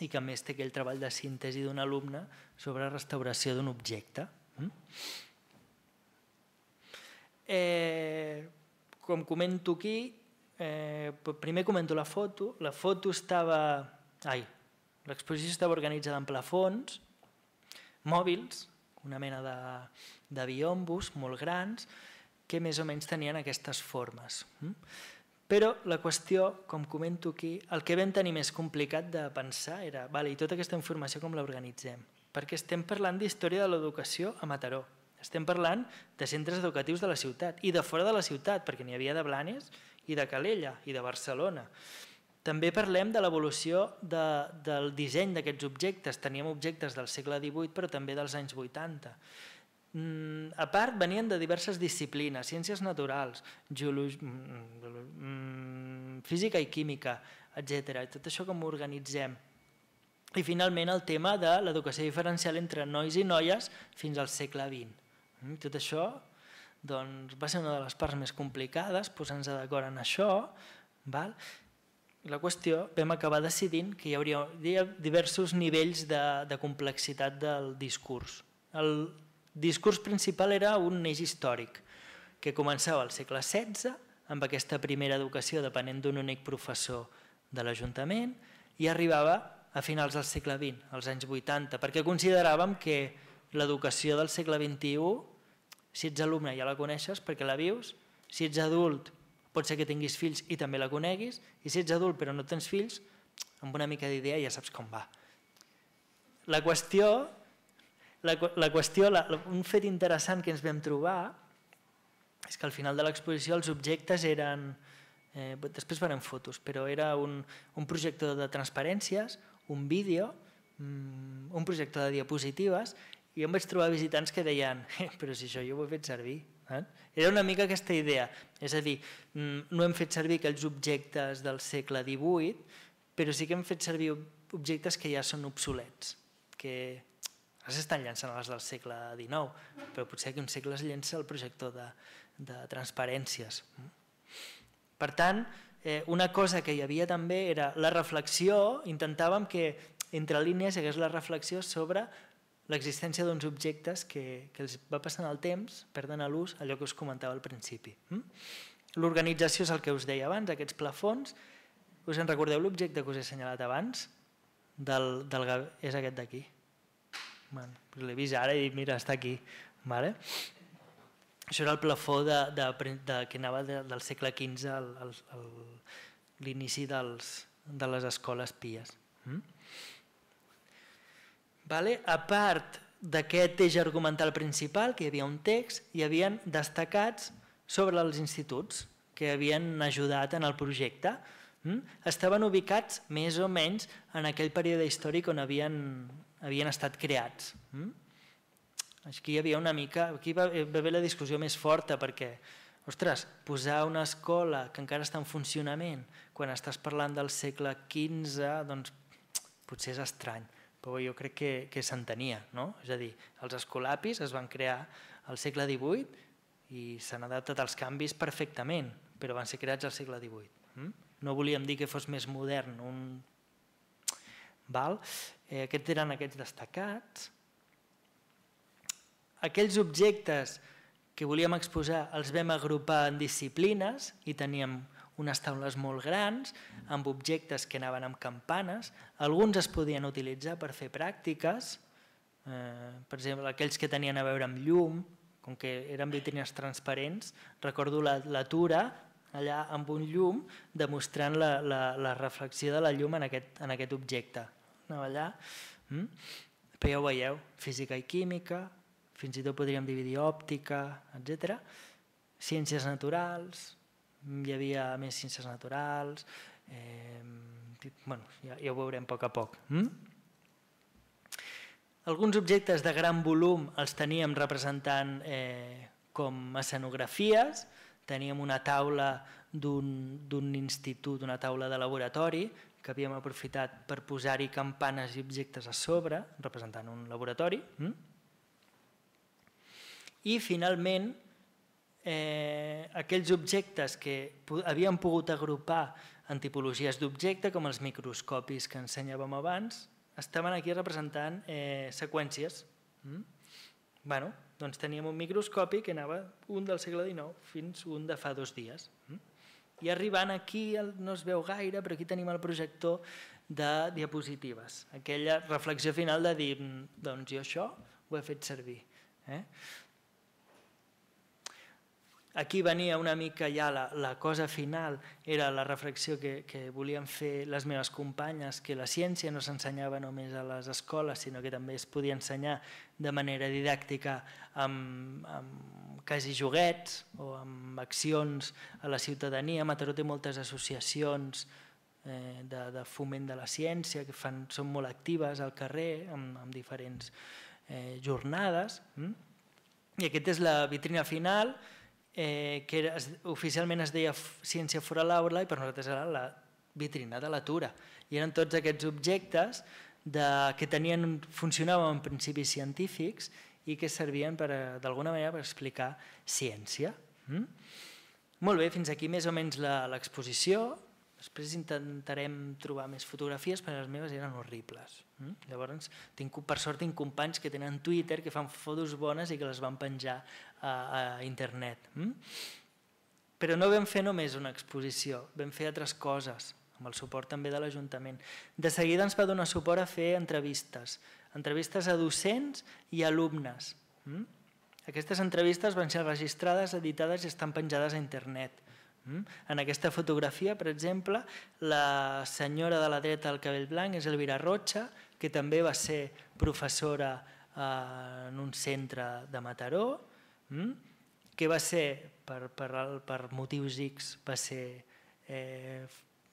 i que a més té aquell treball de síntesi d'un alumne sobre restauració d'un objecte. Com comento aquí, primer comento la foto. La foto l'exposició estava organitzada en plafons, mòbils, una mena de biombos molt grans, que més o menys tenien aquestes formes. Però la qüestió, com comento aquí, el que vam tenir més complicat de pensar era, i tota aquesta informació com l'organitzem? Perquè estem parlant d'història de l'educació a Mataró. Estem parlant de centres educatius de la ciutat i de fora de la ciutat, perquè n'hi havia de Blanes i de Calella i de Barcelona. També parlem de l'evolució del disseny d'aquests objectes. Teníem objectes del segle XVIII, però també dels anys 80. A part, venien de diverses disciplines, ciències naturals, física i química, etc. Tot això com ho organitzem. I finalment el tema de l'educació diferencial entre nois i noies fins al segle XX. Tot això va ser una de les parts més complicades, posant-nos d'acord en això. La qüestió, vam acabar decidint que hi hauria diversos nivells de complexitat del discurs. El discurs principal era un eix històric, que començava al segle XVI, amb aquesta primera educació depenent d'un únic professor de l'Ajuntament, i arribava a finals del segle XX, als anys 80, perquè consideràvem que l'educació del segle XXI, si ets alumne ja la coneixes perquè la vius, si ets adult pot ser que tinguis fills i també la coneguis, i si ets adult però no tens fills, amb una mica d'idea ja saps com va. La qüestió, un fet interessant que ens vam trobar és que al final de l'exposició els objectes eren, després farem fotos, però era un projector de transparències, un vídeo, un projector de diapositives, i em vaig trobar visitants que deien però si això jo ho he fet servir. Era una mica aquesta idea, és a dir, no hem fet servir aquells objectes del segle XVIII, però sí que hem fet servir objectes que ja són obsolets, que ara s'estan llançant les del segle XIX, però potser que un segle es llença el projector de transparències. Per tant, una cosa que hi havia també era la reflexió, intentàvem que entre línies hi hagués la reflexió sobre l'existència d'uns objectes que els va passant el temps, perden l'ús, allò que us comentava al principi. L'organització és el que us deia abans, aquests plafons. Us en recordeu l'objecte que us he assenyalat abans? És aquest d'aquí. L'he vist ara i mira, està aquí. Això era el plafó que anava del segle XV a l'inici de les escoles pies. A part d'aquest eix argumental principal, que hi havia un text, hi havia destacats sobre els instituts que havien ajudat en el projecte. Estaven ubicats més o menys en aquell període històric on havien estat creats. Aquí hi havia una mica, aquí va haver la discussió més forta perquè, ostres, posar una escola que encara està en funcionament quan estàs parlant del segle XV, doncs potser és estrany. Però jo crec que s'entenia, és a dir, els escolapis es van crear al segle XVIII i s'han adaptat als canvis perfectament, però van ser creats al segle XVIII. No volíem dir que fos més modern. Aquests eren aquests destacats. Aquells objectes que volíem exposar els vam agrupar en disciplines i teníem unes taules molt grans, amb objectes que anaven amb campanes. Alguns es podien utilitzar per fer pràctiques, per exemple, aquells que tenien a veure amb llum, com que eren vitrines transparents, recordo la tura allà amb un llum demostrant la reflexió de la llum en aquest objecte. Anava allà, però ja ho veieu, física i química, fins i tot podríem dividir òptica, etc. Ciències naturals, hi havia més ciències naturals, ja ho veurem a poc. Alguns objectes de gran volum els teníem representant com escenografies, teníem una taula d'un institut, una taula de laboratori, que havíem aprofitat per posar-hi campanes i objectes a sobre, representant un laboratori. I finalment, aquells objectes que havíem pogut agrupar en tipologies d'objecte, com els microscopis que ensenyàvem abans, estaven aquí representant seqüències. Doncs teníem un microscopi que anava un del segle XIX fins un de fa 2 dies. I arribant aquí, no es veu gaire, però aquí tenim el projector de diapositives. Aquella reflexió final de dir, doncs jo això ho he fet servir. Aquí venia una mica ja la cosa final, era la reflexió que volien fer les meves companyes, que la ciència no s'ensenyava només a les escoles, sinó que també es podia ensenyar de manera didàctica amb quasi joguets o amb accions a la ciutadania. Mataró té moltes associacions de foment de la ciència que són molt actives al carrer amb diferents jornades. I aquesta és la vitrina final, que oficialment es deia Ciència fora l'aula i per nosaltres era la vitrina de la Tura. I eren tots aquests objectes que funcionaven en principis científics i que servien d'alguna manera per explicar ciència. Molt bé, fins aquí més o menys l'exposició. Després intentarem trobar més fotografies, però les meves eren horribles. Llavors, per sort tinc companys que tenen Twitter, que fan fotos bones i que les van penjar a internet. Però no vam fer només una exposició, vam fer altres coses, amb el suport també de l'Ajuntament. De seguida ens va donar suport a fer entrevistes a docents i alumnes. Aquestes entrevistes van ser registrades, editades i estan penjades a internet. En aquesta fotografia, per exemple, la senyora de la dreta del cabell blanc és Elvira Rocha, que també va ser professora en un centre de Mataró, que va ser, per motius X, va ser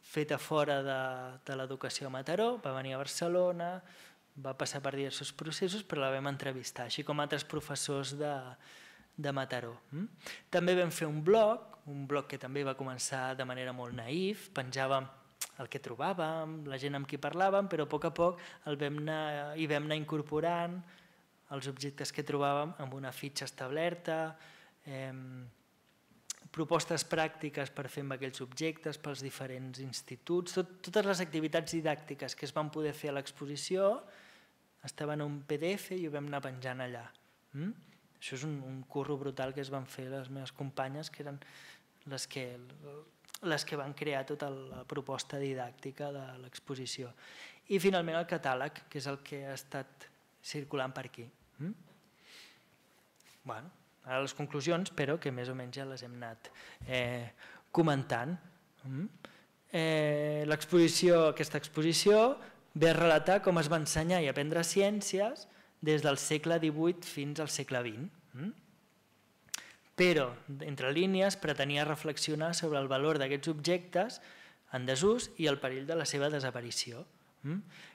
feta fora de l'educació a Mataró, va venir a Barcelona, va passar per diversos processos, però la vam entrevistar, així com altres professors de Mataró. També vam fer un blog que també va començar de manera molt naïf, penjàvem el que trobàvem, la gent amb qui parlàvem, però a poc hi vam anar incorporant els objectes que trobàvem amb una fitxa establerta, propostes pràctiques per fer amb aquells objectes pels diferents instituts, totes les activitats didàctiques que es van poder fer a l'exposició estaven en un PDF i ho vam anar penjant allà. Això és un curro brutal que es van fer les meves companyes, que eren les que van crear tota la proposta didàctica de l'exposició. I finalment el catàleg, que és el que ha estat circulant per aquí. Ara les conclusions, però que més o menys ja les hem anat comentant. Aquesta exposició ve a relatar com es va ensenyar i aprendre ciències des del segle XVIII fins al segle XX. Però, entre línies, pretenia reflexionar sobre el valor d'aquests objectes en desús i el perill de la seva desaparició.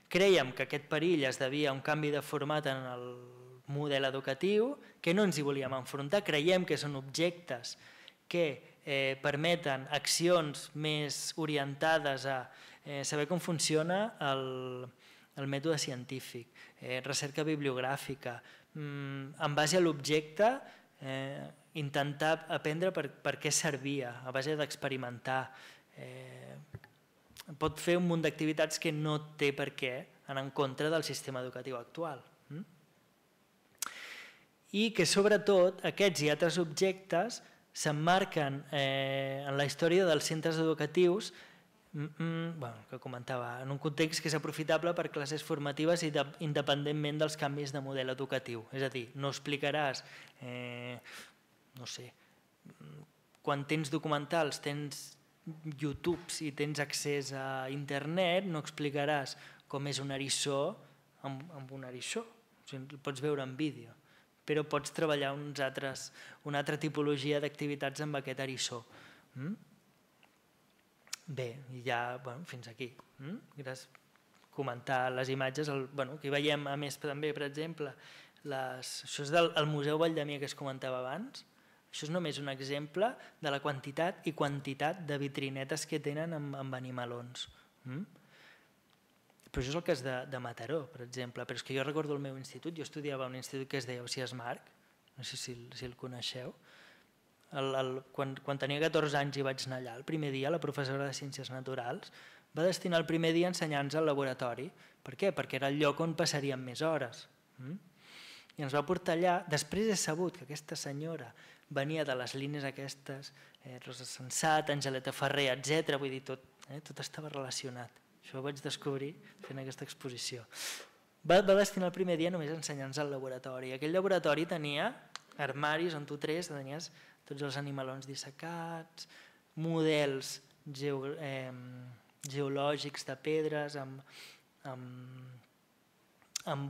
Creiem que aquest perill es devia a un canvi de format en el model educatiu, que no ens hi volíem enfrontar, creiem que són objectes que permeten accions més orientades a saber com funciona el mètode científic, recerca bibliogràfica, en base a l'objecte intentar aprendre per què servia, a base d'experimentar. Pot fer un munt d'activitats que no té per què anar en contra del sistema educatiu actual. I que sobretot aquests i altres objectes s'emmarquen en la història dels centres educatius, que comentava, en un context que és aprofitable per classes formatives independentment dels canvis de model educatiu. És a dir, no explicaràs, no sé, quan tens documentals, tens YouTube i tens accés a internet, no explicaràs com és un eriçó amb un eriçó, el pots veure en vídeo, però pots treballar una altra tipologia d'activitats amb aquest eriçó. Bé, i ja fins aquí. Comentar les imatges, aquí veiem a més també, per exemple, això és del Museu Valldemia que es comentava abans, això és només un exemple de la quantitat i quantitat de vitrinetes que tenen amb animalons. Però això és el cas de Mataró, per exemple, però és que jo recordo el meu institut, jo estudiava a un institut que es deia Ausiàs Marc, no sé si el coneixeu. Quan tenia 14 anys i vaig anar allà, el primer dia la professora de Ciències Naturals va destinar el primer dia a ensenyar-nos al laboratori. Per què? Perquè era el lloc on passaríem més hores. I ens va portar allà. Després he sabut que aquesta senyora venia de les línies aquestes, Rosa Sensat, Angeleta Ferrer, etc. Vull dir, tot estava relacionat. Això ho vaig descobrir fent aquesta exposició. Va destinar el primer dia només a ensenyar-nos al laboratori. Aquell laboratori tenia armaris on tu tenies tots els animalons dissecats, models geològics de pedres amb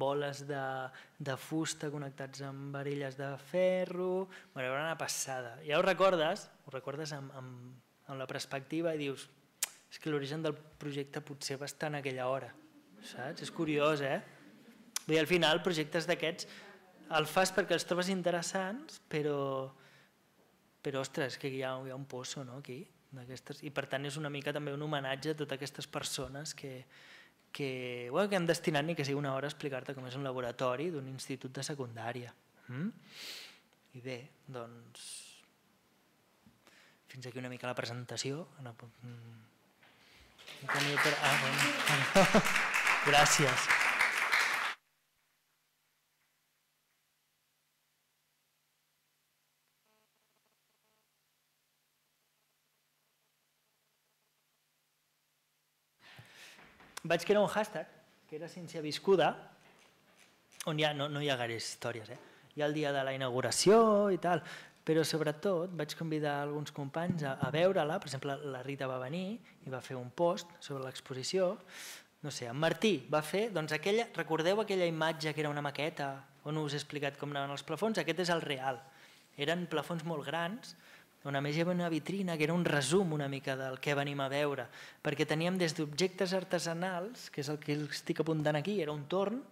boles de fusta connectats amb varelles de ferro. Era una passada. Ja ho recordes amb la perspectiva i dius és que l'origen del projecte potser va estar en aquella hora. Saps? És curiós, Al final, projectes d'aquests el fas perquè els trobes interessants, però ostres, que hi ha un pozo aquí. I per tant és una mica també un homenatge a totes aquestes persones que han destinat ni que sigui una hora a explicar-te com és un laboratori d'un institut de secundària. I bé, doncs fins aquí una mica la presentació. Gràcies. Vaig crear un hashtag, que era Ciència Viscuda, on no hi ha gaire històries. Hi ha el dia de la inauguració i tal, però sobretot vaig convidar alguns companys a veure-la. Per exemple, la Rita va venir i va fer un post sobre l'exposició. No sé, en Martí va fer, doncs recordeu aquella imatge que era una maqueta on us he explicat com anaven els plafons? Aquest és el real. Eren plafons molt grans, on a més hi havia una vitrina que era un resum una mica del que venim a veure, perquè teníem des d'objectes artesanals, que és el que estic apuntant aquí, era un torn,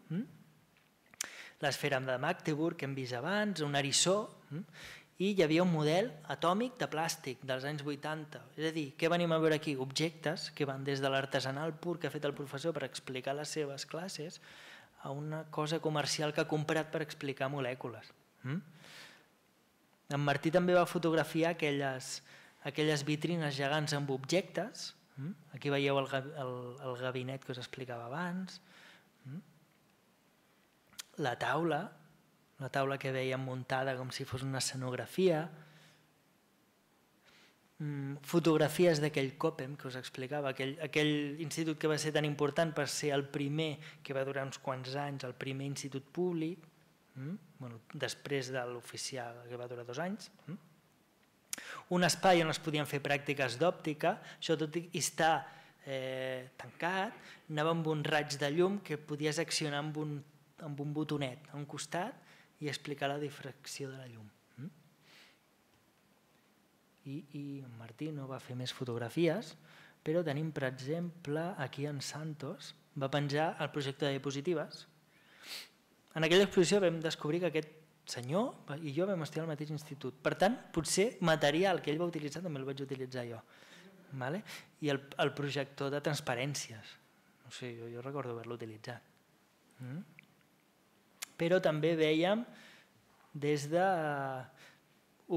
l'esfera de Magdeburg que hem vist abans, un eriçó, i hi havia un model atòmic de plàstic dels anys 80. És a dir, què venim a veure aquí? Objectes que van des de l'artesanal pur que ha fet el professor per explicar les seves classes a una cosa comercial que ha comprat per explicar molècules. En Martí també va fotografiar aquelles vitrines gegants amb objectes. Aquí veieu el gabinet que us explicava abans. La taula que veiem muntada com si fos una escenografia. Fotografies d'aquell COPEM que us explicava, aquell institut que va ser tan important per ser el primer, que va durar uns quants anys, el primer institut públic, després de l'oficial, que va durar 2 anys. Un espai on es podien fer pràctiques d'òptica, això tot i estar tancat, anava amb un raig de llum que podies accionar amb un botonet a un costat i explicar la difracció de la llum. I en Martí no va fer més fotografies, però tenim, per exemple, aquí en Santos, va penjar el projecte de diapositives. En aquella exposició vam descobrir que aquest senyor i jo vam estudiar al mateix institut. Per tant, potser material que ell va utilitzar també el vaig utilitzar jo. I el projector de transparències. No sé, jo recordo haver-lo utilitzat. Però també veiem des d'objectes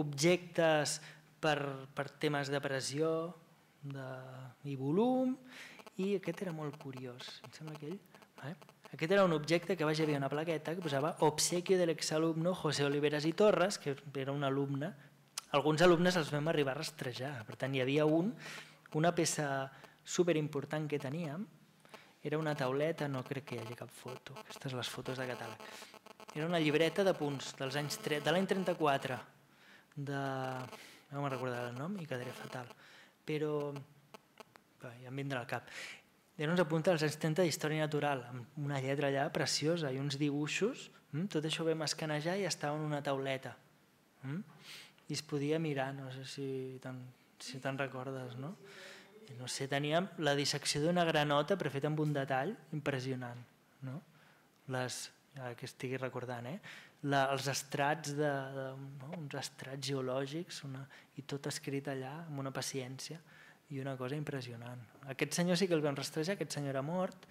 per temes de pressió i volum, i aquest era molt curiós. Em sembla que aquest era un objecte que hi havia una plaqueta que posava obsequio del exalumno José Oliveras y Torres, que era un alumne. Alguns alumnes els vam arribar a rastrejar. Per tant, hi havia una peça superimportant que teníem, era una tauleta, no crec que hi hagi cap foto, aquestes les fotos de catàleg. Era una llibreta de punts de l'any 34, no me'n recordaré el nom i quedaré fatal, però ja em vindrà al cap. Eren uns apunts dels anys 30 d'història natural, amb una lletra allà preciosa i uns dibuixos. Tot això ho vam escanejar i estava en una tauleta. I es podia mirar, no sé si te'n recordes, no? No sé, teníem la dissecció d'una granota però feta amb un detall impressionant. Que estigui recordant, els estrats, uns estrats geològics i tot escrit allà amb una paciència i una cosa impressionant. Aquest senyor sí que el vam rastrejar, aquest senyor era mort,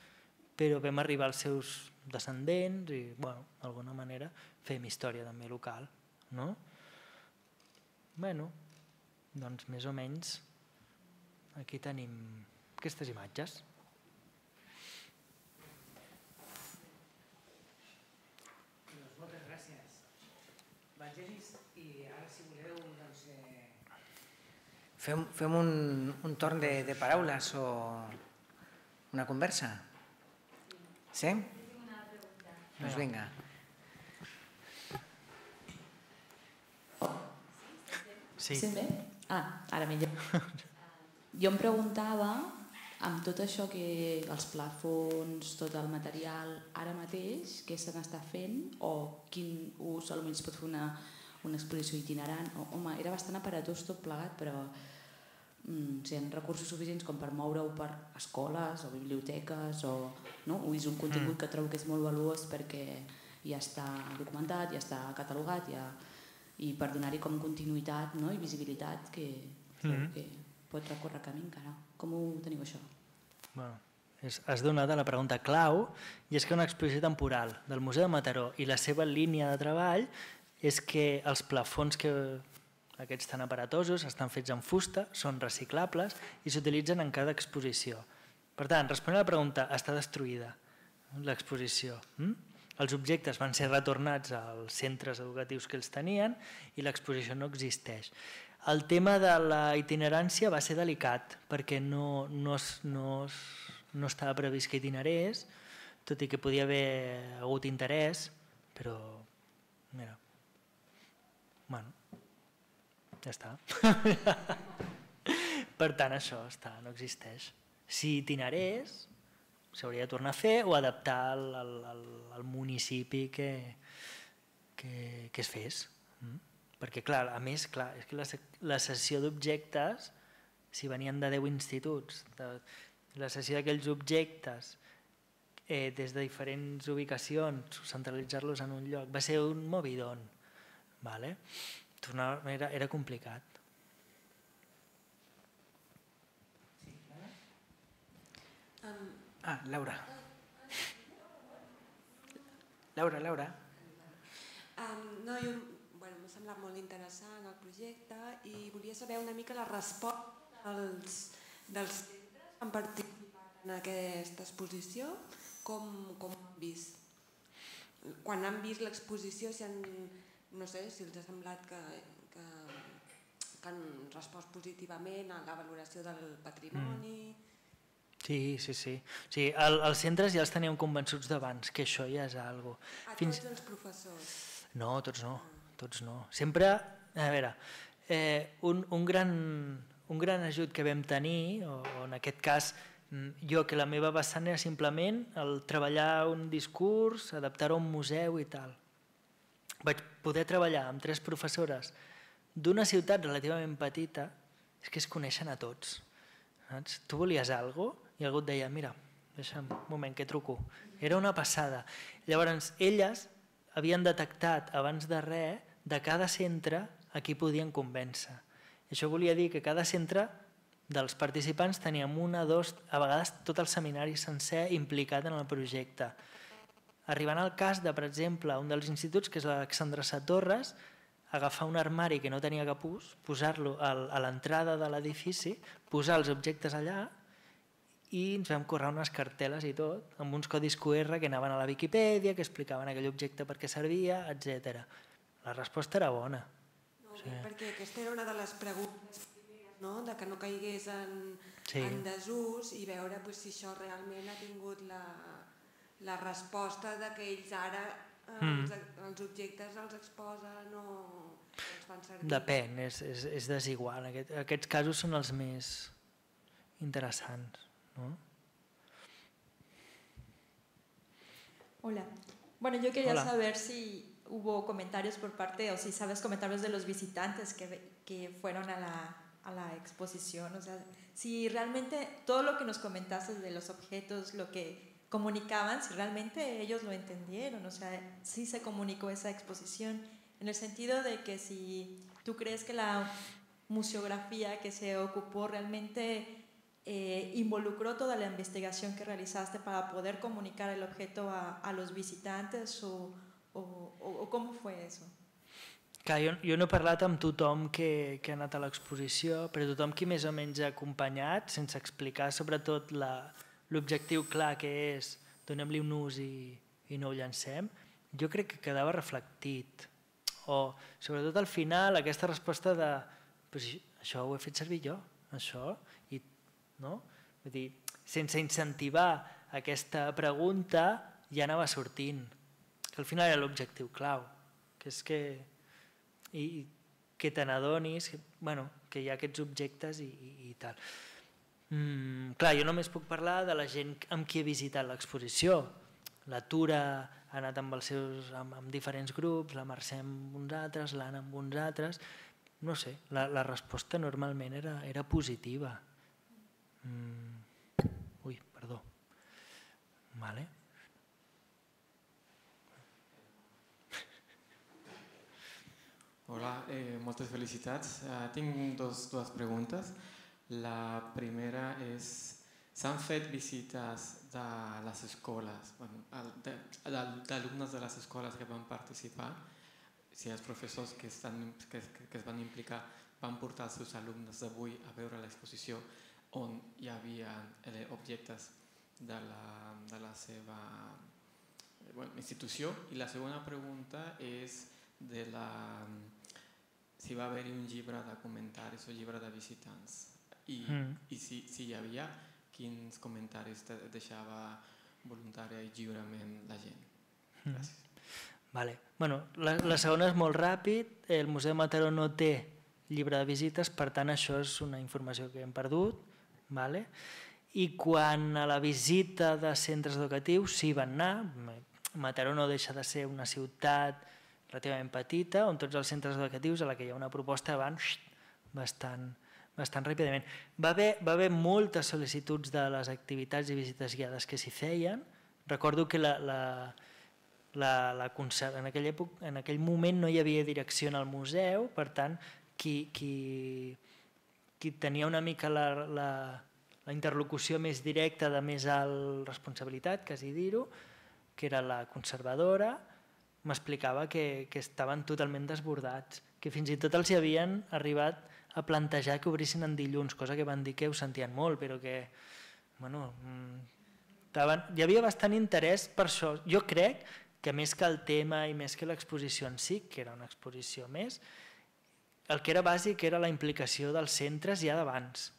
però vam arribar als seus descendents i, d'alguna manera, fem història també local. Doncs més o menys aquí tenim aquestes imatges. Moltes gràcies. Vangelis, i ara si voleu fem un torn de paraules o una conversa. Sí? Doncs vinga. Sí. Sent bé? Ara millor. Jo em preguntava, amb tot això que els plafons, tot el material, ara mateix, què se n'està fent o quin ús potser es pot fer una exposició itinerant? Home, era bastant aparatós tot plegat, però si hi ha recursos suficients com per moure-ho per escoles o biblioteques o és un contingut que trobo que és molt valuós perquè ja està documentat, ja està catalogat i per donar-hi com continuïtat i visibilitat que pot recórrer camí encara. Com ho teniu això? Has donat a la pregunta clau, i és que una exposició temporal del Museu de Mataró i la seva línia de treball és que els plafons aquests tan aparatosos estan fets en fusta, són reciclables i s'utilitzen en cada exposició. Per tant, responent a la pregunta, està destruïda l'exposició. Els objectes van ser retornats als centres educatius que els tenien i l'exposició no existeix. El tema de la itinerància va ser delicat perquè no estava previst que itinerés, tot i que podia haver hagut interès, però Ja està. Per tant, això no existeix. Si itinerés, s'hauria de tornar a fer o adaptar al municipi que es fes. Perquè, clar, a més, és que la cessió d'objectes, si venien de 10 instituts, la cessió d'aquells objectes des de diferents ubicacions, centralitzar-los en un lloc, va ser un movidón. Era complicat. Laura. Laura. No, m'ha semblat molt interessant el projecte i volia saber una mica la resposta dels centres que han participat en aquesta exposició, com ho han vist. Quan han vist l'exposició, no sé si els ha semblat que han respost positivament a la valoració del patrimoni. Sí. Els centres ja els teníem convençuts d'abans, que això ja és alguna cosa. Tots els professors? No, tots no. Sempre, a veure, un gran ajut que vam tenir, o en aquest cas jo, que la meva vessant era simplement el treballar un discurs, adaptar-ho a un museu i tal. Vaig poder treballar amb 3 professores d'una ciutat relativament petita, és que es coneixen a tots. Tu volies alguna cosa i algú et deia, mira, deixa'm un moment que truco. Era una passada. Llavors, elles havien detectat abans de res de cada centre a qui podien convèncer. Això volia dir que cada centre dels participants teníem 1, 2, a vegades tot el seminari sencer implicat en el projecte. Arribant al cas de, per exemple, un dels instituts, que és l'Alexandre Satorres, agafar un armari que no tenia capús, posar-lo a l'entrada de l'edifici, posar els objectes allà i ens vam currar unes cartel·les i tot, amb uns codis QR que anaven a la Viquipèdia, que explicaven aquell objecte per què servia, etc. La resposta era bona. Perquè aquesta era una de les preguntes primeres, de que no caigués en desús i veure si això realment ha tingut la resposta que ells ara els objectes els exposen o els fan servir. Depèn, és desigual. Aquests casos són els més interessants. Hola. Bueno, yo quería saber si hubo comentarios por parte, o si sabes comentarios de los visitantes que fueron a la exposición. O sea, si realmente todo lo que nos comentaste de los objetos, lo que comunicaban, si realmente ellos lo entendieron, o sea, si se comunicó esa exposición, en el sentido de que si tú crees que la museografía que se ocupó realmente involucró toda la investigación que realizaste para poder comunicar el objeto a los visitantes o com fue eso? Clar, jo no he parlat amb tothom que ha anat a l'exposició, però tothom qui més o menys ha acompanyat, sense explicar sobretot l'objectiu clar que és donem-li un ús i no ho llancem, jo crec que quedava reflectit. O sobretot al final aquesta resposta de això ho he fet servir jo, això, no? Vull dir, sense incentivar aquesta pregunta ja anava sortint, que al final era l'objectiu clau, que és que te n'adonis que hi ha aquests objectes i tal. Clar, jo només puc parlar de la gent amb qui he visitat l'exposició. La Tura ha anat amb diferents grups, la Mercè amb uns altres, l'Anna amb uns altres. No sé, la resposta normalment era positiva. Ui, perdó. Vale. Hola, moltes felicitats. Tinc dues preguntes. La primera és, s'han fet visites de les escoles, d'alumnes de les escoles que van participar, si els professors que es van implicar van portar els seus alumnes d'avui a veure l'exposició on hi havia objectes de la seva institució. I la segona pregunta és si va haver-hi un llibre de comentaris o llibre de visitants i si hi havia, quins comentaris deixava voluntària i lliurement la gent. Gràcies. La segona és molt ràpid. El Museu de Mataró no té llibre de visites, per tant això és una informació que hem perdut. I quan a la visita de centres educatius sí van anar, Mataró no deixa de ser una ciutat relativament petita, on tots els centres educatius a la que hi ha una proposta van bastant ràpidament. Va haver moltes sol·licituds de les activitats i visites guiades que s'hi feien. Recordo que en aquell moment no hi havia direcció en el museu, per tant, qui tenia una mica la interlocució més directa de més alt responsabilitat, quasi dir-ho, que era la conservadora, m'explicava que estaven totalment desbordats, que fins i tot els hi havien arribat a plantejar que obrissin en dilluns, cosa que van dir que ho sentien molt, però que hi havia bastant interès per això. Jo crec que més que el tema i més que l'exposició en si, que era una exposició més, el que era bàsic era la implicació dels centres ja d'abans.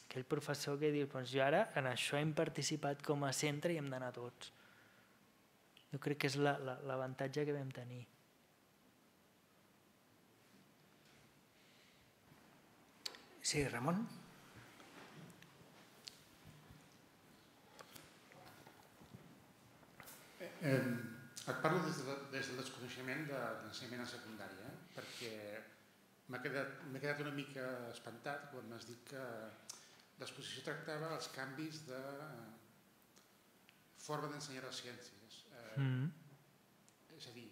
Aquell professor que diu, jo ara en això hem participat com a centre i hem d'anar tots. Jo crec que és l'avantatge que vam tenir. Sí, Ramon? Et parlo des del desconeixement de l'ensenyament a secundària, perquè m'he quedat una mica espantat quan m'has dit que l'exposició tractava els canvis de forma d'ensenyar les ciències. És a dir,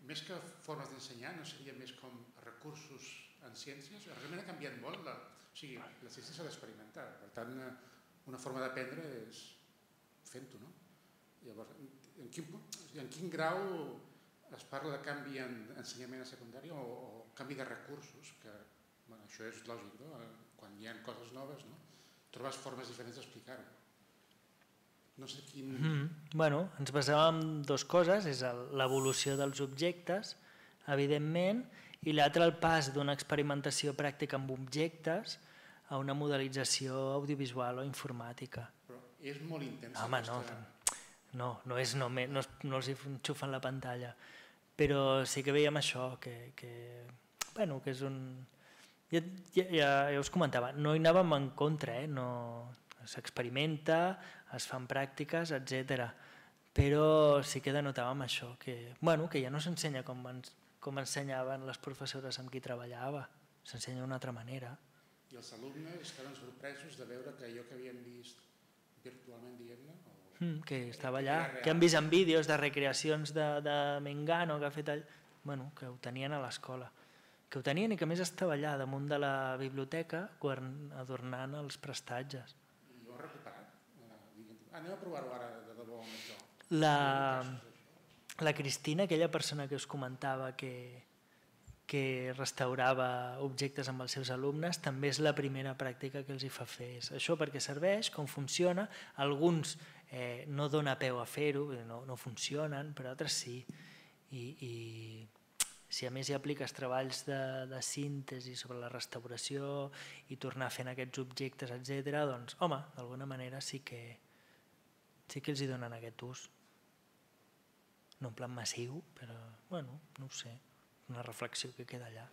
més que formes d'ensenyar, no seria més com recursos en ciències? Realment ha canviat molt. La ciència s'ha d'experimentar. Per tant, una forma d'aprendre és fent-ho, no? Llavors, en quin grau es parla de canvi en ensenyament a secundària o canvi de recursos? Que això és lògic, no? Quan hi ha coses noves, no? Trobes formes diferents d'explicar-ho. No sé quin... Ens basàvem en dues coses, és l'evolució dels objectes, evidentment, i l'altre el pas d'una experimentació pràctica amb objectes a una modelització audiovisual o informàtica. Però és molt intensa. Home, no els hi enxufen la pantalla, però sí que veiem això, que és un... Ja us comentava, no hi anàvem en contra, s'experimenta, es fan pràctiques, etc. Però sí que denotàvem això, que ja no s'ensenya com ensenyaven les professores amb qui treballava, s'ensenya d'una altra manera. I els alumnes estaven sorpresos de veure que allò que havien vist virtualment, diguem-ne, que estava allà, que han vist en vídeos de recreacions de Mengano que ha fet que ho tenien a l'escola, que ho tenien i que a més estava allà damunt de la biblioteca adornant els prestatges. I ho ha recuperat? Anem a provar-ho ara de debò amb això. La Cristina, aquella persona que us comentava que restaurava objectes amb els seus alumnes, també és la primera pràctica que els hi fa fer. Això perquè serveix, com funciona, alguns no dona peu a fer-ho, no funcionen, però altres sí. I si a més hi apliques treballs de síntesi sobre la restauració i tornar fent aquests objectes, etc., doncs, home, d'alguna manera sí que els hi donen aquest ús. No en plan massiu, però, no ho sé, una reflexió que queda allà.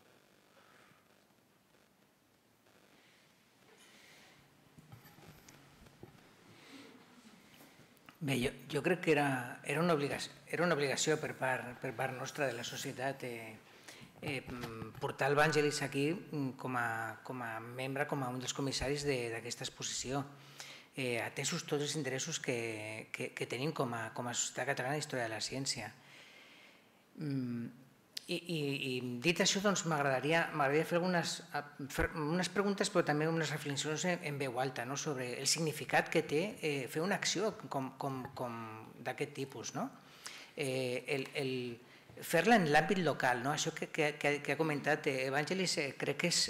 Bé, jo crec que era una obligació per part nostra de la societat portar el Vangelis aquí com a membre, com a un dels comissaris d'aquesta exposició, atesos tots els interessos que tenim com a Societat Catalana d'Història de la Ciència. I dit això, m'agradaria fer unes preguntes, però també unes reflexions en veu alta sobre el significat que té fer una acció d'aquest tipus. Fer-la en l'àmbit local, això que ha comentat Evangelis, crec que és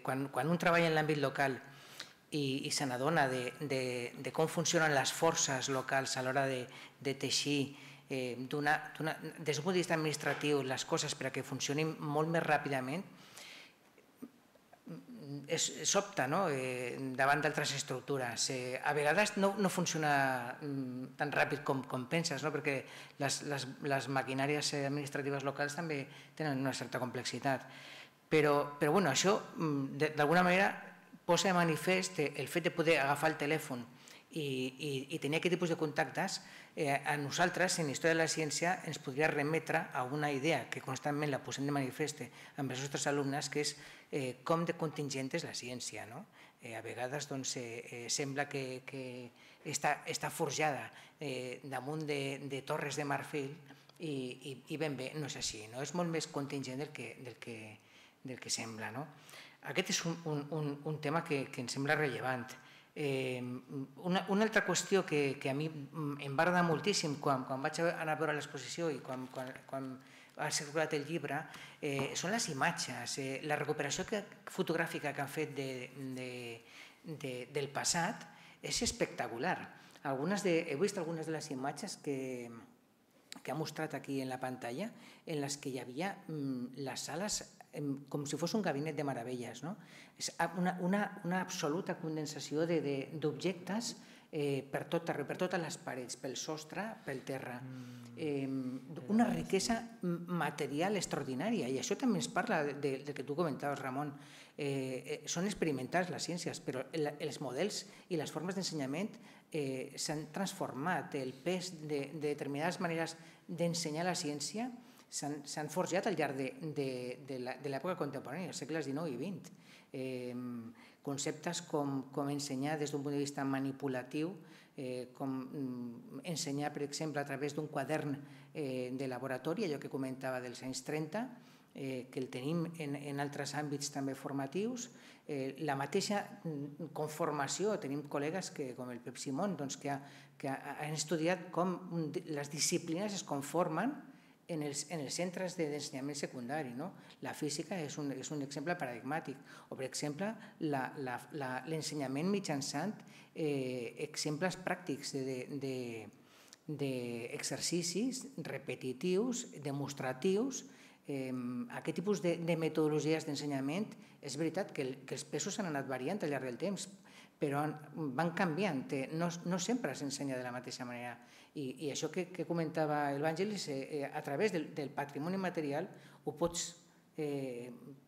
quan un treballa en l'àmbit local i se n'adona de com funcionen les forces locals a l'hora de teixir des d'un punt de vista administratiu les coses perquè funcionin molt més ràpidament, sobta davant d'altres estructures. A vegades no funciona tan ràpid com penses, perquè les maquinàries administratives locals també tenen una certa complexitat, Però bueno, això d'alguna manera posa de manifest el fet de poder agafar el telèfon i tenir aquest tipus de contactes. A nosaltres, en Història de la Ciència, ens podria remetre a una idea que constantment la posem de manifest amb els nostres alumnes, que és com de contingent és la ciència. A vegades sembla que està forjada damunt de torres de marfil i ben bé no és així, és molt més contingent del que sembla. Aquest és un tema que em sembla rellevant. Una altra qüestió que a mi em va agradar moltíssim quan vaig anar a veure l'exposició i quan ha circulat el llibre són les imatges, la recuperació fotogràfica que han fet del passat és espectacular. He vist algunes de les imatges que ha mostrat aquí en la pantalla en les que hi havia les sales com si fos un gabinet de meravelles. És una absoluta condensació d'objectes per tot arreu, per totes les parets, pel sostre, pel terra. Una riquesa material extraordinària, i això també ens parla del que tu comentaves, Ramon. Són experimentals les ciències, però els models i les formes d'ensenyament s'han transformat. El pes de determinades maneres d'ensenyar la ciència s'han forjat al llarg de l'època contemporània, els segles XIX i XX. Conceptes com ensenyar des d'un punt de vista manipulatiu, com ensenyar, per exemple, a través d'un quadern de laboratori, allò que comentava dels anys 30, que el tenim en altres àmbits també formatius. La mateixa conformació, tenim col·legues com el Pep Simón, que han estudiat com les disciplines es conformen en els centres d'ensenyament secundari. La física és un exemple paradigmàtic, o per exemple l'ensenyament mitjançant exemples pràctics d'exercicis repetitius, demostratius. Aquest tipus de metodologies d'ensenyament és veritat que els pesos s'han anat variant al llarg del temps, però van canviant, no sempre s'ensenya de la mateixa manera. I això que comentava el Vangelis, a través del patrimoni material ho pots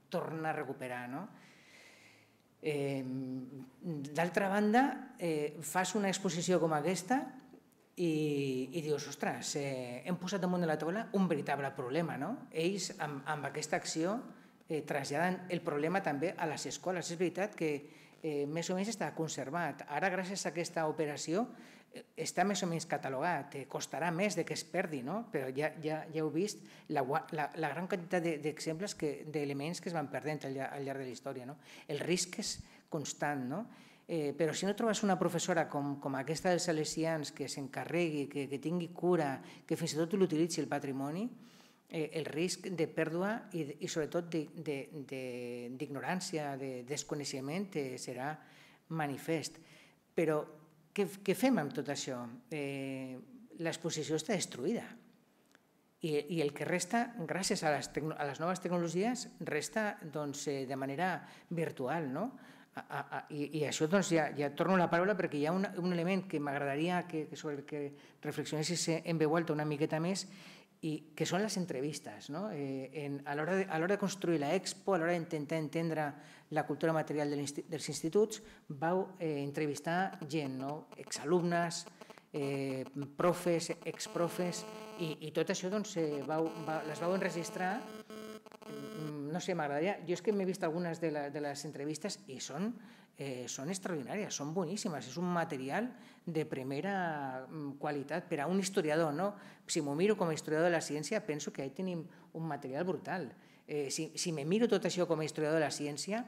tornar a recuperar. D'altra banda, fas una exposició com aquesta i dius, ostres, hem posat damunt de la taula un veritable problema. Ells, amb aquesta acció, traslladen el problema també a les escoles. És veritat que més o menys està conservat. Ara, gràcies a aquesta operació, està més o menys catalogat. Costarà més que es perdi, però ja heu vist la gran quantitat d'exemples, d'elements que es van perdent al llarg de la història. El risc és constant, però si no trobes una professora com aquesta dels Salesians que s'encarregui, que tingui cura, que fins i tot l'utilitzi el patrimoni, el risc de pèrdua i sobretot d'ignorància, de desconeixement serà manifest. Però què fem amb tot això? L'exposició està destruïda i el que resta, gràcies a les noves tecnologies, resta de manera virtual. I això ja torno la paraula perquè hi ha un element que m'agradaria sobre el que reflexionessis en veu alta una miqueta més, i que són les entrevistes. A l'hora de construir l'Expo, a l'hora d'intentar entendre la cultura material dels instituts, vau entrevistar gent, exalumnes, profes, exprofes, i tot això les vau enregistrar. No sé, m'agradaria... Jo és que m'he vist algunes de les entrevistes i són extraordinàries, són boníssimes, és un material de primera qualitat per a un historiador. Si m'ho miro com a historiador de la ciència, penso que ahí tenim un material brutal. Si me miro tot això com a historiador de la ciència,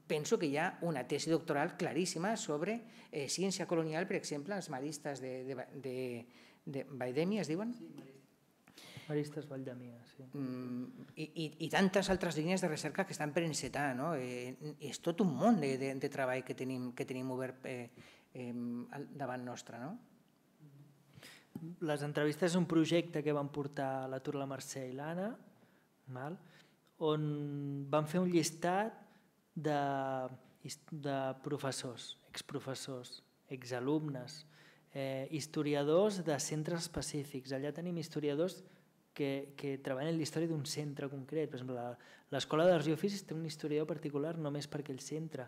penso que hi ha una tesi doctoral claríssima sobre ciència colonial, per exemple, els maristes de Valldemossa, es diuen? Maristes Valldemossa, sí. I tantes altres línies de recerca que estan per encetar. És tot un món de treball que tenim obert davant nostre. Les entrevistes és un projecte que van portar la Tur, la Mercè i l'Anna, on van fer un llistat de professors, exprofessors, exalumnes, historiadors de centres específics. Allà tenim historiadors que treballen en la història d'un centre concret. Per exemple, l'Escola d'Arts i Oficis té un historiador particular només per aquell centre.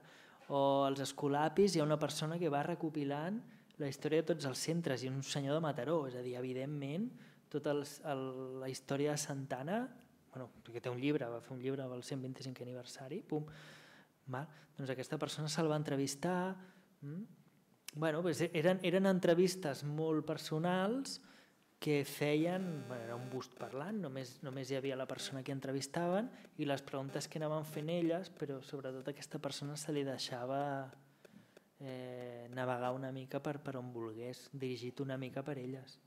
O als Escolapis hi ha una persona que va recopilant la història de tots els centres i un senyor de Mataró. És a dir, evidentment, tota la història de Santana, perquè té un llibre, va fer un llibre del 125è aniversari, doncs aquesta persona se'l va entrevistar. Eren entrevistes molt personals que feien, era un bust parlant, només hi havia la persona que entrevistaven i les preguntes que anaven fent elles, però sobretot aquesta persona se li deixava navegar una mica per on volgués, dirigit una mica per elles.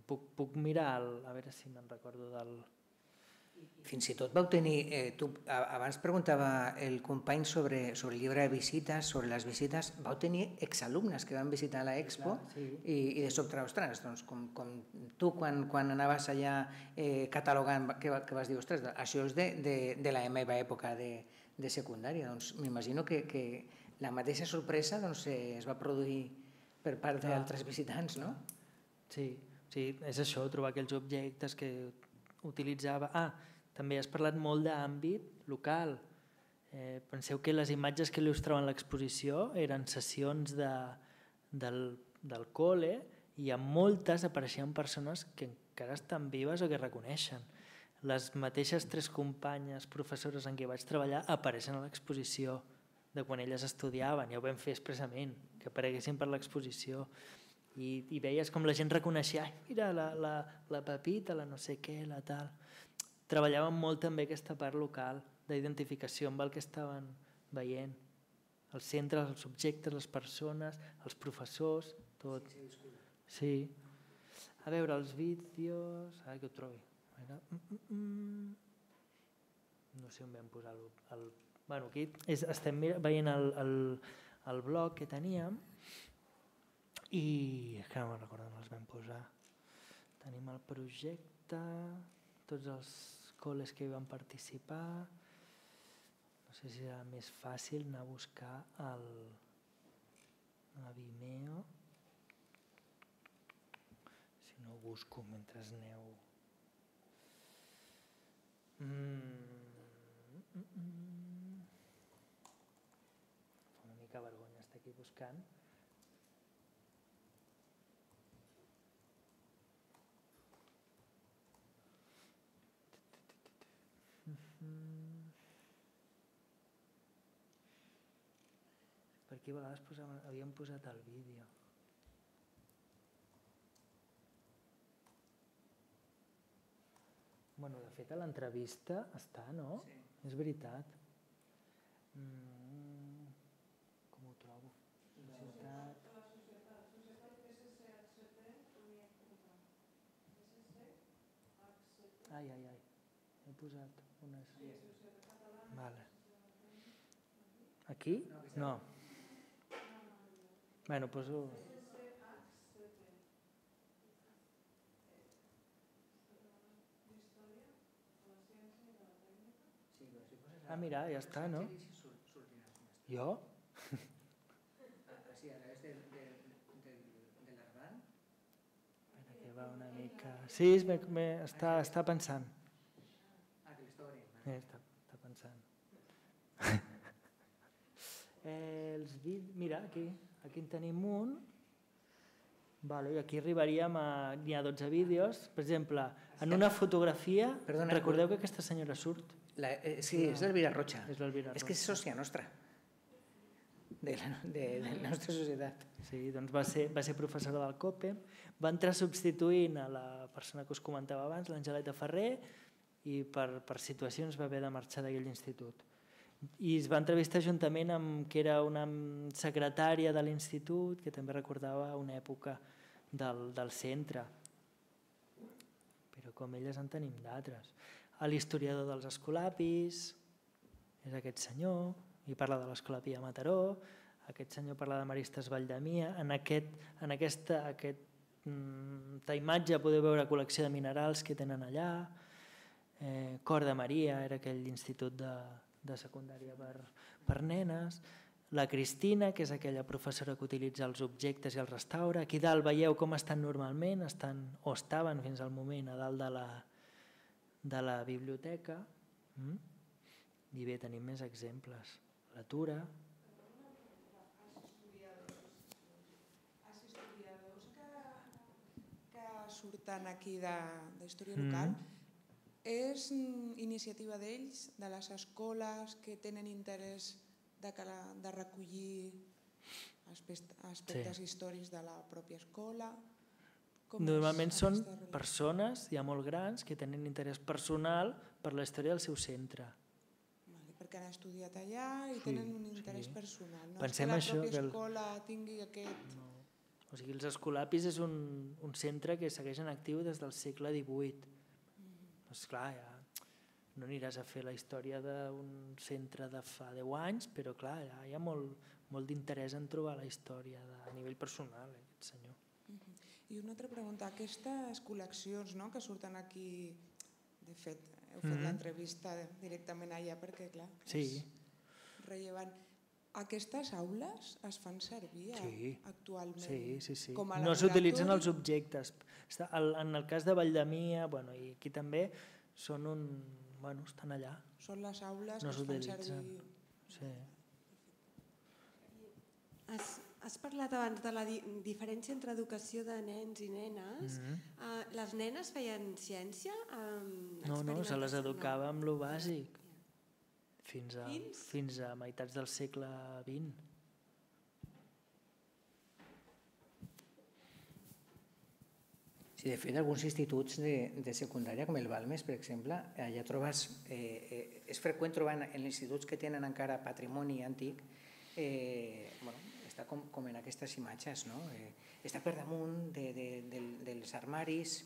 Puc mirar, a veure si me'n recordo del... Fins i tot vau tenir, abans preguntava el company sobre el llibre de visites, sobre les visites, vau tenir exalumnes que van visitar l'Expo i de sobte, ostres, doncs com tu quan anaves allà catalogant, que vas dir, ostres, això és de la meva època de secundària, doncs m'imagino que la mateixa sorpresa es va produir per part d'altres visitants, no? Sí, és això, trobar aquells objectes que utilitzava. També has parlat molt d'àmbit local. Penseu que les imatges que il·lustraven l'exposició eren sessions del col·le i en moltes apareixien persones que encara estan vives o que reconeixen. Les mateixes 3 companyes professores en què vaig treballar apareixen a l'exposició de quan elles estudiaven, ja ho vam fer expressament, que apareguessin per l'exposició. I veies com la gent reconeixia, mira, la Pepita, la no sé què, la tal. Treballàvem molt també aquesta part local d'identificació amb el que estaven veient. Els centres, els subjectes, les persones, els professors, tot. Sí. A veure, els vídeos... Ara que ho trobi. No sé on vam posar el... Bueno, aquí estem veient el blog que teníem i és que no me'n recordo on els vam posar. Tenim el projecte, tots els col·les que hi van participar. No sé si serà més fàcil anar a buscar a Vimeo. Si no ho busco mentre aneu... Fa una mica vergonya estar aquí buscant. Per aquí a vegades havíem posat el vídeo. Bueno, de fet a l'entrevista està, no? Sí. És veritat. Com ho trobo? Societat... Ai. He posat unes... Vale. Aquí? No. Bueno, poso... Mira, ja està, no? Jo? Sí, ara és de l'Arban. Espera, que va una mica... Sí, està pensant. Que l'està obrint. Està pensant. Mira, aquí en tenim un. I aquí arribaríem a... N'hi ha 12 vídeos. Per exemple, en una fotografia... Recordeu que aquesta senyora surt? Sí, és l'Elvira Rocha. És que és sòcia nostra, de la nostra societat. Sí, doncs va ser professora del COPE, va entrar substituint a la persona que us comentava abans, l'Angeleta Ferrer, i per situacions va haver de marxar d'aquell institut. I es va entrevistar juntament amb que era una secretària de l'institut, que també recordava una època del centre. Però com elles en tenim d'altres. L'historiador dels Escolapis és aquest senyor, i parla de l'Escolapi a Mataró, aquest senyor parla de Maristes Valldemia. En aquesta imatge podeu veure col·lecció de minerals que tenen allà. Cor de Maria era aquell institut de secundària per nenes. la Cristina, que és aquella professora que utilitza els objectes i els restaura. Aquí dalt veieu com estan normalment, o estaven fins al moment a dalt de la biblioteca. I bé, tenim més exemples. La Tura. Els historiadors que surten aquí d'història local, és iniciativa d'ells, de les escoles que tenen interès de recollir aspectes històrics de la pròpia escola? Normalment són persones ja molt grans que tenen interès personal per la història del seu centre. Perquè han estudiat allà i tenen un interès personal. No és Pensem que la això, pròpia escola tingui aquest... O sigui, els escolapis és un centre que segueix en actiu des del segle XVIII. Doncs clar, ja no aniràs a fer la història d'un centre de fa 10 anys, però clar, ja hi ha molt d'interès en trobar la història a nivell personal, aquest senyor. I una altra pregunta, aquestes col·leccions que surten aquí, de fet, heu fet l'entrevista directament allà perquè, clar, és rellevant. Aquestes aules es fan servir actualment? Sí. Com a no s'utilitzen els objectes. En el cas de Valldemia, i aquí també, estan allà. Són les aules no que es fan servir... Sí. Has parlat abans de la diferència entre educació de nens i nenes. Les nenes feien ciència? No, se les educava amb lo bàsic. Fins a meitats del segle XX. Sí, de fet, alguns instituts de secundària, com el Balmes, per exemple, allà trobes... És freqüent trobar en instituts que tenen encara patrimoni antic, està com en aquestes imatges, no? Està per damunt dels armaris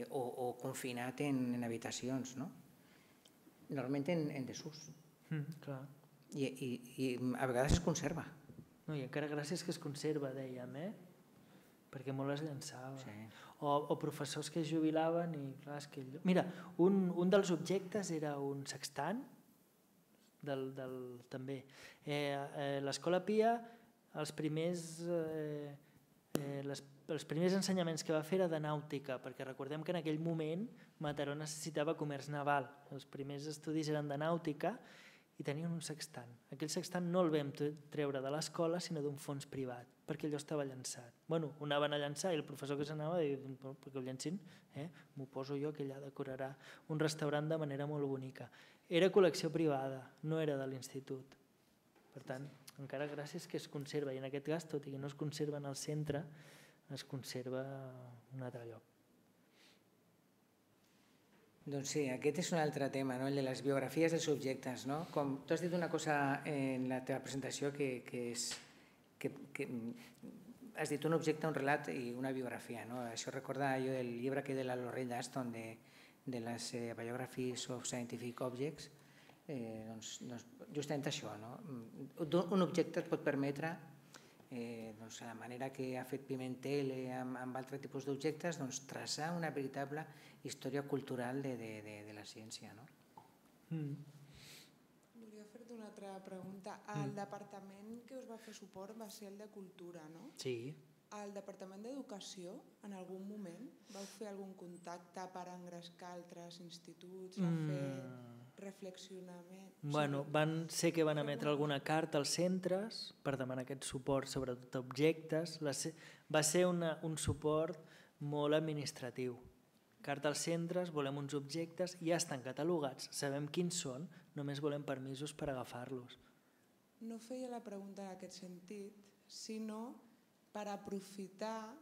o confinat en habitacions, no? Normalment en desús. Clar. I a vegades es conserva. I encara gràcies que es conserva, dèiem, perquè molt es llançava. Sí. O professors que es jubilaven i clar, és que... Mira, un dels objectes era un sextant, també. L'Escola Pia, els primers ensenyaments que va fer era de nàutica, perquè recordem que en aquell moment Mataró necessitava comerç naval. Els primers estudis eren de nàutica i tenien un sextant. Aquell sextant no el vam treure de l'escola, sinó d'un fons privat, perquè allò estava llançat. Bueno, ho anaven a llançar i el professor que s'anava deia, perquè ho llancin, m'ho poso jo, que allà decorarà un restaurant de manera molt bonica. Era col·lecció privada, no era de l'institut. Per tant, encara gràcies que es conserva, i en aquest cas, tot i que no es conserva en el centre, es conserva en un altre lloc. Doncs sí, aquest és un altre tema, el de les biografies dels subjectes. Com tu has dit una cosa en la teva presentació que has dit un objecte, un relat i una biografia. Això recorda allò del llibre que de la Lorraine Daston de les Biographies of Scientific Objects. Justament això. Un objecte et pot permetre, a la manera que ha fet Pimentel amb altres tipus d'objectes, traçar una veritable història cultural de la ciència. Volia fer-te una altra pregunta. El departament que us va fer suport va ser el de Cultura, no? Sí. Al Departament d'Educació, en algun moment, vau fer algun contacte per engrescar altres instituts, a fer reflexionament? Bueno, sé que van emetre alguna carta als centres per demanar aquest suport, sobretot a objectes. Va ser un suport molt administratiu. Carta als centres, volem uns objectes, ja estan catalogats, sabem quins són, només volem permisos per agafar-los. No feia la pregunta en aquest sentit, sinó per aprofitar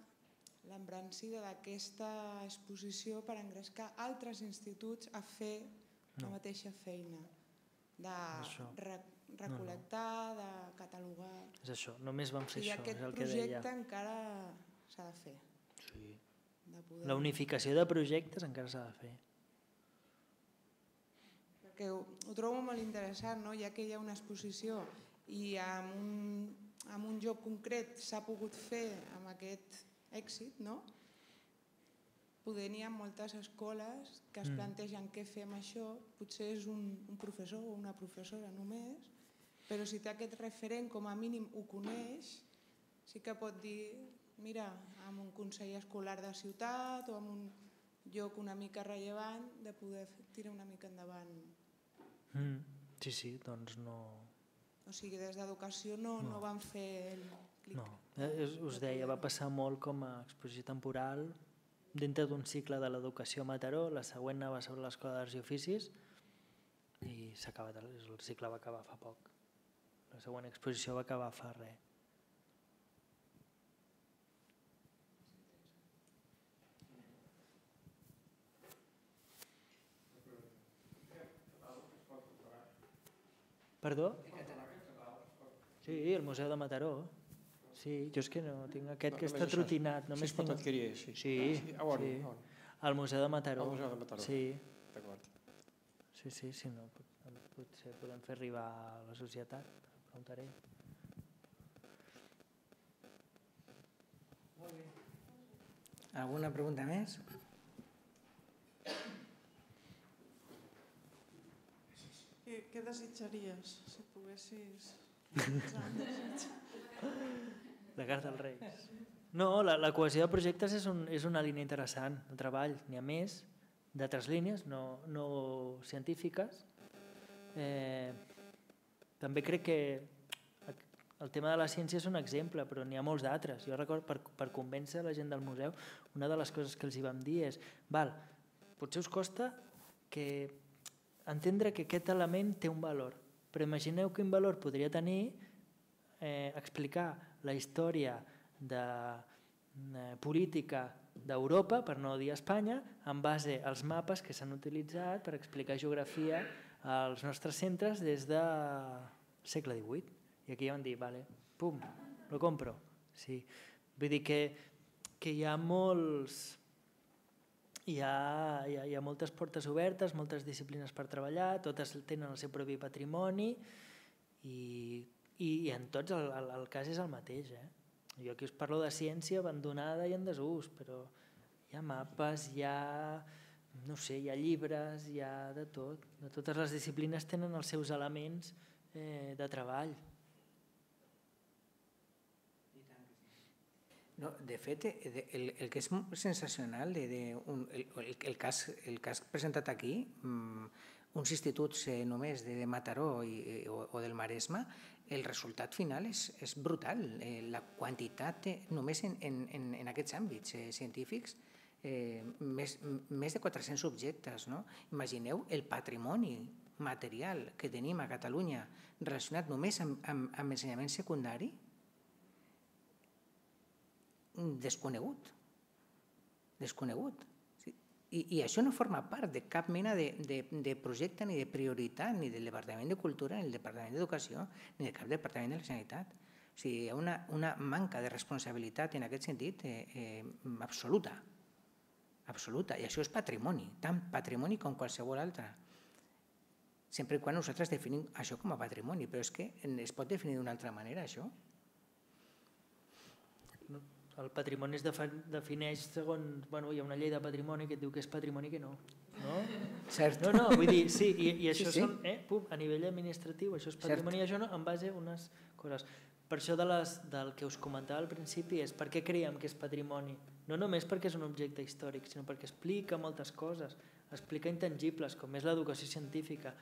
l'embranzida d'aquesta exposició per engrescar altres instituts a fer la mateixa feina, de recol·lectar, de catalogar... És això, només vam fer això, és el que deia. I aquest projecte encara s'ha de fer. Sí. La unificació de projectes encara s'ha de fer. Perquè ho trobo molt interessant, ja que hi ha una exposició i en un lloc concret s'ha pogut fer amb aquest èxit, poder n'hi ha moltes escoles que es plantegen què fer amb això, potser és un professor o una professora només, però si té aquest referent, com a mínim ho coneix, sí que pot dir, mira, amb un consell escolar de ciutat o amb un lloc una mica rellevant, de poder tirar una mica endavant. Sí, doncs no... O sigui, des d'educació no van fer el clic. No, us deia, va passar molt com a exposició temporal dintre d'un cicle de l'educació a Mataró, la següent anava sobre l'Escola d'Arts i Oficis i s'ha acabat, el cicle va acabar fa poc. La següent exposició va acabar fa res. Perdó? Sí, el Museu de Mataró. Sí, jo és que no tinc aquest que està trotinat. Si es pot adquirir així. Sí, al Museu de Mataró. Al Museu de Mataró. Sí. D'acord. Sí, si no, potser podem fer arribar a la societat. Preguntaré. Alguna pregunta més? Què desitjaries si poguessis... La carta als Reis. No, la cohesió de projectes és una línia interessant de treball. N'hi ha més, d'altres línies, no científiques. També crec que el tema de la ciència és un exemple, però n'hi ha molts d'altres. Jo recordo, per convèncer la gent del museu, una de les coses que els hi vam dir és potser us costa entendre que aquest element té un valor, però imagineu quin valor podria tenir explicar la història política d'Europa, per no dir Espanya, en base als mapes que s'han utilitzat per explicar geografia als nostres centres des del segle XVIII. I aquí ja van dir, vale, pum, lo compro. Sí. Vull dir que hi ha molts... Hi ha moltes portes obertes, moltes disciplines per treballar, totes tenen el seu propi patrimoni i en tots el cas és el mateix. Jo aquí us parlo de ciència abandonada i en desús, però hi ha mapes, hi ha llibres, hi ha de tot. Totes les disciplines tenen els seus elements de treball. No, de fet, el que és sensacional, el cas presentat aquí, uns instituts només de Mataró o del Maresme, el resultat final és brutal. La quantitat, només en aquests àmbits científics, més de 400 subjectes. Imagineu el patrimoni material que tenim a Catalunya relacionat només amb ensenyament secundari, desconegut. I això no forma part de cap mena de projecte, ni de prioritat, ni del Departament de Cultura, ni del Departament d'Educació, ni de cap departament de la Generalitat. O sigui, hi ha una manca de responsabilitat en aquest sentit absoluta. Absoluta. I això és patrimoni, tant patrimoni com qualsevol altre. Sempre quan nosaltres definim això com a patrimoni, però és que es pot definir d'una altra manera, això? El patrimoni es defineix segons... Hi ha una llei de patrimoni que et diu que és patrimoni que no. Cert. No, vull dir, sí, i això són, a nivell administratiu, això és patrimoni i això no, en base a unes coses. Per això del que us comentava al principi és per què creiem que és patrimoni. No només perquè és un objecte històric, sinó perquè explica moltes coses, explica intangibles, com és l'educació científica.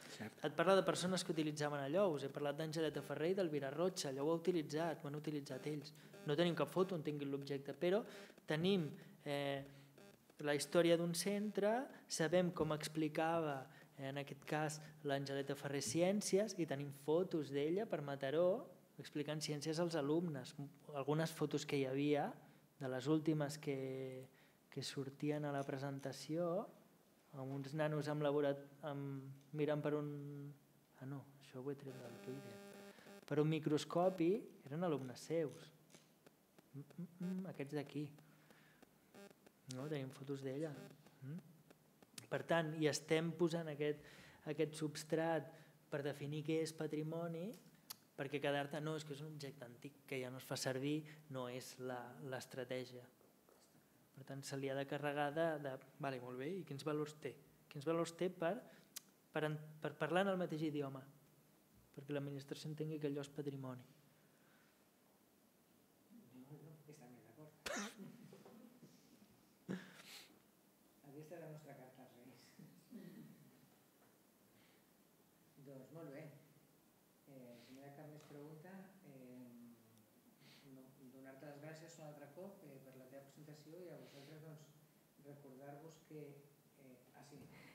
Et parla de persones que utilitzaven allò, us he parlat d'Angeleta Ferrer i d'Elvira Rocha, allò ho ha utilitzat, ho han utilitzat ells. No tenim cap foto on tinguin l'objecte, però tenim la història d'un centre, sabem com explicava, en aquest cas, l'Angeleta Ferrer ciències, i tenim fotos d'ella per Mataró explicant ciències als alumnes. Algunes fotos que hi havia, de les últimes que sortien a la presentació, amb uns nanos mirant per un... no, això ho he tret del Twitter. Per un microscopi, eren alumnes seus. Aquests d'aquí. Tenim fotos d'ella. Per tant, hi estem posant aquest substrat per definir què és patrimoni, perquè quedar-te, no, és que és un objecte antic que ja no es fa servir, no és l'estratègia. Per tant, se li ha de carregar vale, molt bé, i quins valors té? Quins valors té per parlar en el mateix idioma? perquè l'administració entengui que allò és patrimoni. Aquesta és la nostra carta als Reis. Doncs molt bé. Si no hi ha cap més pregunta, donar-te les gràcies un altre cop per la teva presentació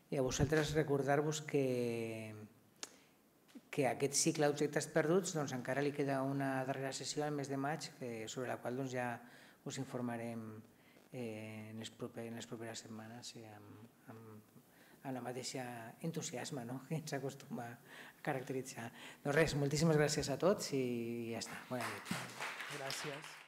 i a vosaltres recordar-vos que aquest cicle d'objectes perduts encara li queda una darrera sessió al mes de maig sobre la qual ja us informarem en les properes setmanes amb la mateixa entusiasme que ens acostuma a caracteritzar. Doncs res, moltíssimes gràcies a tots i ja està. Bona nit. Gràcies.